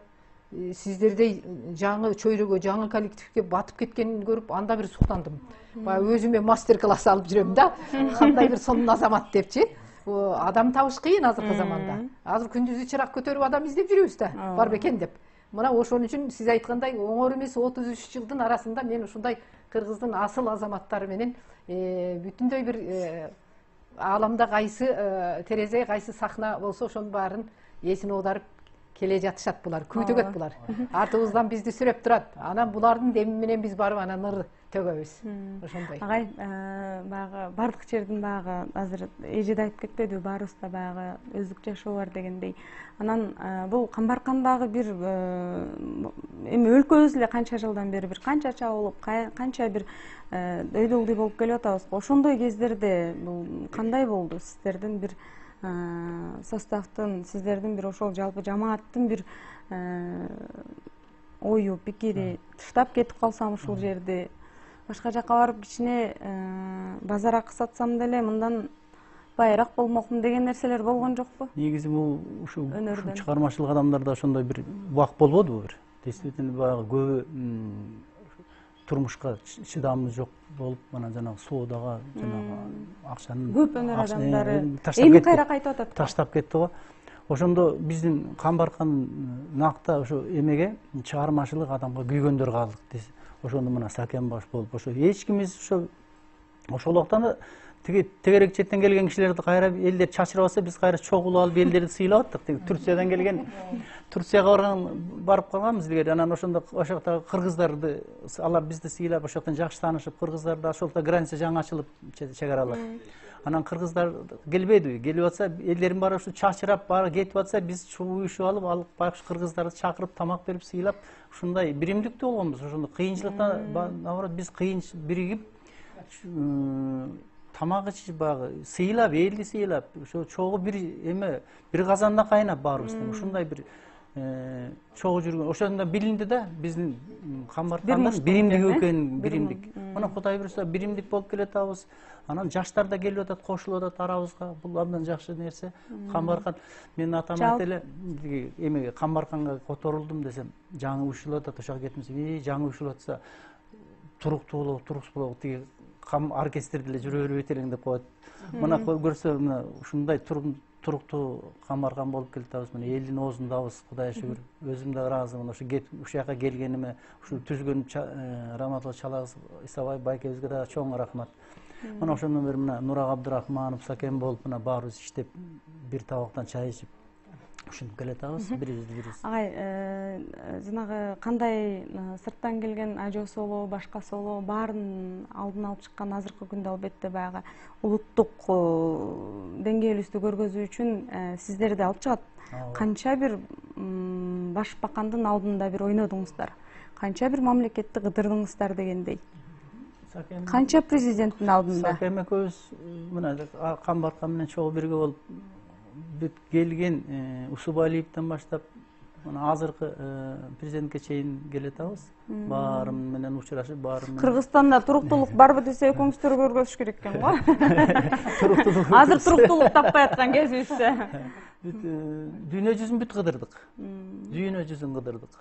сиздердей жаңы чөйрөгө, жаңы коллективге батып кеткенин көрүп, анда бир суктандым. Баягы өзүмө мастер-класс алып жүрөм да, кандай бир сонун азамат депчи. Адам табыш кыйын азыркы заманда. Азыр күндүзү чырак көтөрүп адам издеп жүрүбүз да, бар бекен деп. Мына ошон үчүн сиз айткандай оңор эмес 33 жылдын арасында мен ушундай Кыргыздын асыл азаматтары менен бүтүндөй бир ааламда кайсы терезе, кайсы сахна болсо ошонун баарын эсине оодарып келе жатышат булар, күй төгөт булар. Артыбыздан бизди сүрөп турат. Анан булардын деми менен биз барып анан ыр төгөбүз. Ошондой. Агай, баягы бардык жердин баягы азыр эже да айтып кетпедиби, баарыбызда баягы өздүк жашоо бар дегендей. Анан бул Камбаркандагы бир эми өлкөбүз эле канча жылдан бери бир канча чабылып, канча бир дөйдөлдүй болуп келип атабыз. Ошондой кездерде бул кандай болду? Сиздердин бир составдын, сиздердин бир ошол жалпы жамааттын бир ою, пикири таштап кетип калсам ушул жерди башка жакка барып кичине базар акы сатсам деле мындан байыраак болмокмун деген нерселер болгон жокпу? Негизи бул ушу чыгармачылык адамдарда ошондой бир убак болбодубу бир? Действительно баягы көбү турмушка чыдамы жок болуп, анан жанагы соодага, жанагы акчанын көп өнөр адамдары эми кайра кайтып атат. Таштап кетти го. Ошондо биздин Камбаркан накта ошо эмеге чыгармачылык адамга күйгөндөр калдык. Ошондо мына Сакен баш болуп, ошо эч кимиз ошол убактан тегерек четтен келген кишилерди кайра элдер чачырап атса, биз кайра чогулуп алып элдерди сыйлап аттык. Турциядан келген, Турцияга барып калганбыз илгери. Анан ошондо ошоктогу кыргыздарды, алар бизди сыйлап, ошоктон жакшы таанышып, кыргыздарда ошолто граница жаңы ачылып, чек аралар. Анан кыргыздар келбедиби? Келип атса, элдердин баары ушу чачырап, баары кетип атса, биз уюшуп алып, байкуш кыргыздарды чакырып, тамак берип, сыйлап, ушундай биримдиктүү болгонбуз. Ошондо кыйынчылыкта, наоборот, биз биригип, тамак ичип, баягы сыйлап, элди сыйлап, ошо чогуу бир эме, бир казанда кайнап баарыбыз. Ушундай бир чогуу жүргөн. Ошондо билинди да, биздин Камбаркандын биримдик экенин, биримдик. Мына Кудай буюрса биримдик болуп келатабыз. Анан жаштар да келип атат, кошулуп атат арабызга. Бул абдан жакшы нерсе. Камбаркан, мен атам айт эле, эмеге Камбарканга которулдум десем, жаңы уюшулуп атат, ошого кетмесем, жаңы уюшулуп атса, туруктуу болобу, туруксуз болобу, тиги оркестрде эле жүрө бербейт элең деп коет. Мына көрсө мына ушундай туруктуу камбаркан болуп келатабыз. Мына элдин оозундабыз, Кудайга шүгүр. Өзүм да ыраазымын. Ушу жака келгениме, ушу түзгөн Раматулла Чалагыз Исабай байкебизге да чоң рахмат. Мына ошондон бери мына Нурак Абдырахманов, Сакен болуп мына баарыбыз иштеп, бир табактан чай ичип ушинтип келатабыз, бирибиз. Агай, жанагы кандай сырттан келген ажоосу болобу, башкасы болобу, баарын алдын алып чыккан азыркы күндө албетте баягы улуттук деңгээлибизди көргөзүү үчүн сиздерди алып чыгат. Канча бир башбакандын алдында бир ойнодуңуздар, канча бир мамлекетти кыдырдыңыздар дегендей. Канча президенттин алдында? Сакен экөөбүз мына Камбаркан менен чогуу бирге болуп бүт келген Усубалиевден баштап мына азыркы президентке чейин келатабыз. Баары менен учурашып, баары менен. Кыргызстанда туруктуулук барбы десе экөөңүздөр көргөзүш керек экен го. Туруктуулук. Азыр туруктуулук таппай аткан кезибизде. Дүйнө жүзүн бүт кыдырдык. Дүйнө жүзүн кыдырдык.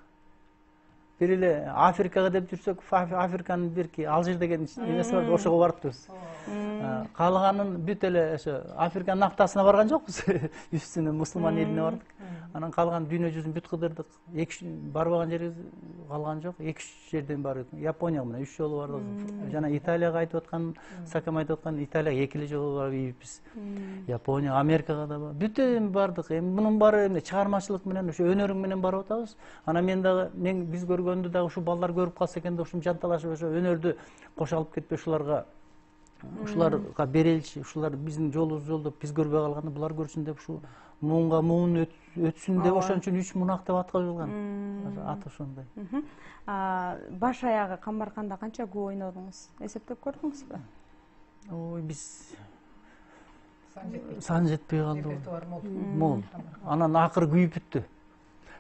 Бир эле Африкага деп жүрсөк, Африканын бирки Алжир деген эмеси бар, ошого барыппыз. Калганын бүт эле ошо Африканын нафтасына барган жокпуз. Үстүнө мусулман элине бардык. Анан калган дүйнө жүзүн бүт кыдырдык. Барбаган жерибиз калган жок. 2-3 жерден бардык. Японияга мына 3 жолу бардык. Жана Италияга айтып аткан, Сакем айтып аткан, Италияга 2 жолу барыпбыз. Япония, Америкага да бүт бардык. Эми мунун баары эмне чыгармачылык менен, ошо өнөрүң менен барып атабыз. Анан биз көргөндү дагы ушу балдар көрүп калса экен деп ушум жанталашып ошо өнөрдү кошо алып кетпей ушуларга береличи, ушулар биздин жолубузду жолдоп биз көрбөй калганда булар көрсүн деп ушу муунга муун өтсүн деп ошон үчүн 3 мунак деп ат коюлган. Аты ошондой. Баш аягы Камбарканда канча күн ойнодуңуз? Эсептеп көрдүңүзбү? Ой, биз сан жетпей калды. Мол. Анан акыры күйүп бүттү.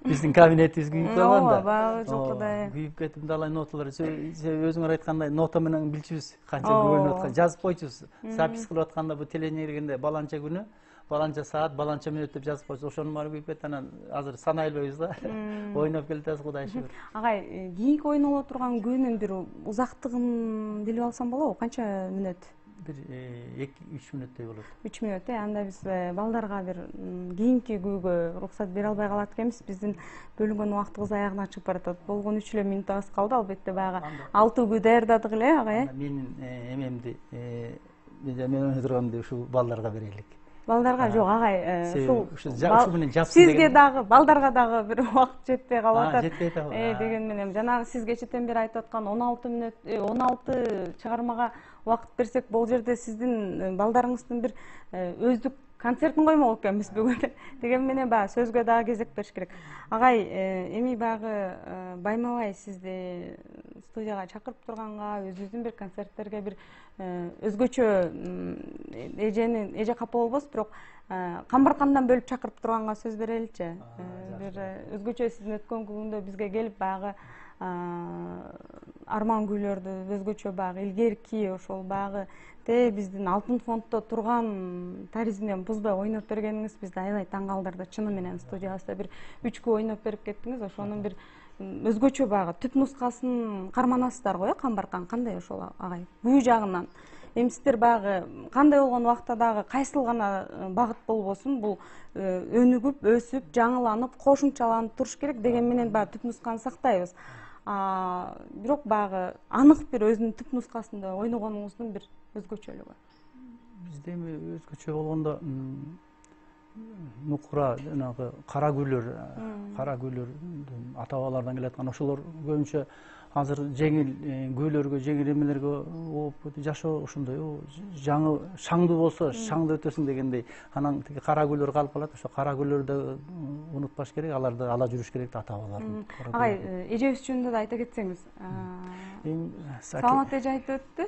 Биздин кабинетибиз күйүп калганда. Ооба, жылкыдай. Күйүп кетип далай ноталар. Өзүңөр айткандай нота менен билчүбүз канча күн өткөн. Жазып койчубуз. Запись кылып атканда бу телевидениеге баланча күнү, баланча саат, баланча мүнөт деп жазып койчубуз. Ошонун баары күйүп кетти. Анан азыр санай албайбыз да. Ойноп келатабыз, Кудайга шүгүр. Агай, кийинки ойноло турган күнүн бир узактыгын билип алсам болобу? Канча мүнөт? Бир 2-3 мүнөттөй болот. 3 мүнөт, анда биз балдарга бир кийинки күнгө уруксат бере албай калат экенбиз. Биздин бөлүнгөн убактыбыз аягына чыгып баратат. Болгон 3 мүнөтүбүз калды. Албетте баягы 6 күү даярдадык эле, агай. Менин эмемди, мен ойной турганымды ушул балдарга берелик. Балдарга жок, агай, ушу менен жапсын. Сизге дагы, балдарга дагы бир убакыт жетпей калып атат. Жетпей атабы. Деген менен жанагы сиз кечэтен бери айтып аткан 16 мүнөт, 16 чыгармага убакыт берсек, бул жерде сиздин балдарыңыздын бир өздүк концертин коймок экенбиз бүгүн. Деген менен баягы сөзгө дагы кезек бериш керек. Агай, эми баягы Баймабай сизди студияга чакырып турганга, өзүбүздүн бир концерттерге бир өзгөчө эже капа болбосун, бирок Камбаркандан бөлүп чакырып турганга сөз береличи. Бир өзгөчө сиздин өткөн күндө бизге келип баягы арман күйлөрдү өзгөчө баягы илгерки ошол баягы биздин алтын фонддо турган таризинен бузбай ойноп бергениңиз бизди аябай таң калтырды. Чыны менен студиябызда бир 3 күн ойноп берип кеттиңиз. Ошонун бир өзгөчө баягы түп нускасын карманасыздар го, Камбаркан кандай ошол агай? Бүү жагынан эми сиздер баягы кандай болгон убакта дагы кайсыл гана багыт болбосун, бул өнүгүп, өсүп, жаңыланып, кошумчаланып туруш керек деген менен баягы түп нусканы сактайбыз. Бирок баягы анык бир өзүнүн түп нускасында ойногонуңуздун бир өзгөчөлүгү. Бизде эми өзгөчө болгондо нукура, жанагы кара күйлөрдүн ата-бабалардан келаткан ошолор көбүнчө азыр жеңил күйлөргө, жеңил эмелерге ооп жашоо ошондой, жаңы шаңдуу болсо шаңды өтөсүң дегендей. Анан кара күйлөр калып калат. Ошо кара күйлөрдү унутпаш керек, аларды ала жүрүш керек ата-бабалардын. Агай, эжебиз жөнүндө да айта кетсеңиз. Саламат эже айтып өттү.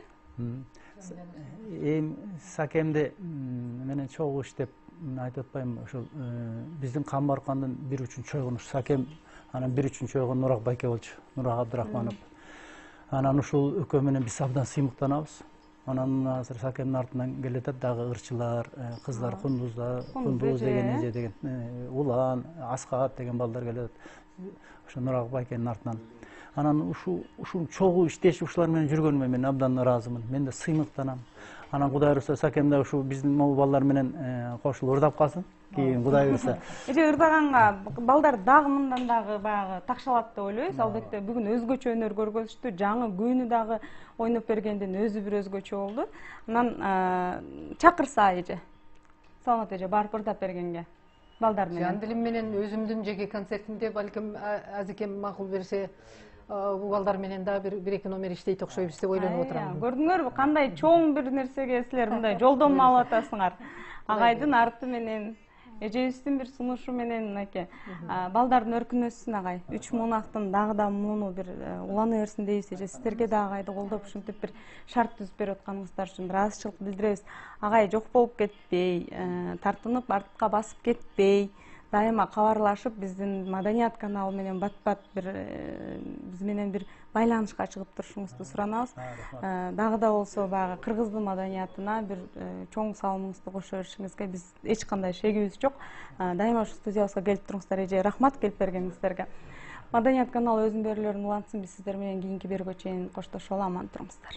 Сакемде менен чогуу иштеп айтып атпайм, ошол биздин Камбаркандын 1/3 чойгону Сакем, анан 1/3 чойгон Нурак байке болчу, Нурак Абдырахманов. Анан ушул экөө менен биз абдан сыймыктанабыз. Анан азыр Сакемдин артынан келатат дагы ырчылар, кыздар, Кундуз деген эже деген, Улан, Аскат деген балдар келет. Ошо Нурак байкенин артынан. анан ушул чогуу иштешип ушулар менен жүргөнүмө мен абдан ыраазымын. Мен да сыймыктанам. Анан Кудай буюрса Сакем да ушул биздин могу балдар менен кошулуп ырдап калсын. Кийин Кудай буюрса. Эже ырдаганга балдар дагы мындан дагы баягы такшалат деп ойлойбуз. Албетте бүгүн өзгөчө өнөр көргөзүштү. Жаңы күйүнү дагы ойноп бергендин өзү бир өзгөчө болду. Анан чакырса эже. Саламат эже барып ырдап бергенге. Балдар менен. Жан дилим менен өзүмдүн жеке концертимде балким азекем макул берсе, бул балдар менен дагы бир эки номер иштейт окшойбуз деп ойлонуп отурам. Көрдүңөрбү кандай чоң бир нерсеге силер мындай жолдомо алып атасыңар. Агайдын арты менен, эжебиздин бир сунушу менен мынакей балдардын өркүн өссүн агай. 3 мунактын дагы да муну бир улана берсин дейбиз эже. Сиздерге да агайды колдоп ушинтип бир шарт түзүп берип атканыңыздар үчүн ыраазычылык билдиребиз. Агай жок болуп кетпей, тартынып артка басып кетпей, дайыма кабарлашып биздин маданият каналы менен бат-бат бир биз менен бир байланышка чыгып турушуңузду суранабыз. Дагы да болсо баягы кыргыздын маданиятына бир чоң салымыңызды кошо беришиңизге биз эч кандай шегибиз жок. Дайыма ушу студиябызга келип туруңуздар эже. Рахмат келип бергениңиздерге. Маданият каналы өзүнүн берүүлөрүн улантсын. Биз сиздер менен кийинки берүүгө чейин коштошолу, аман туруңуздар.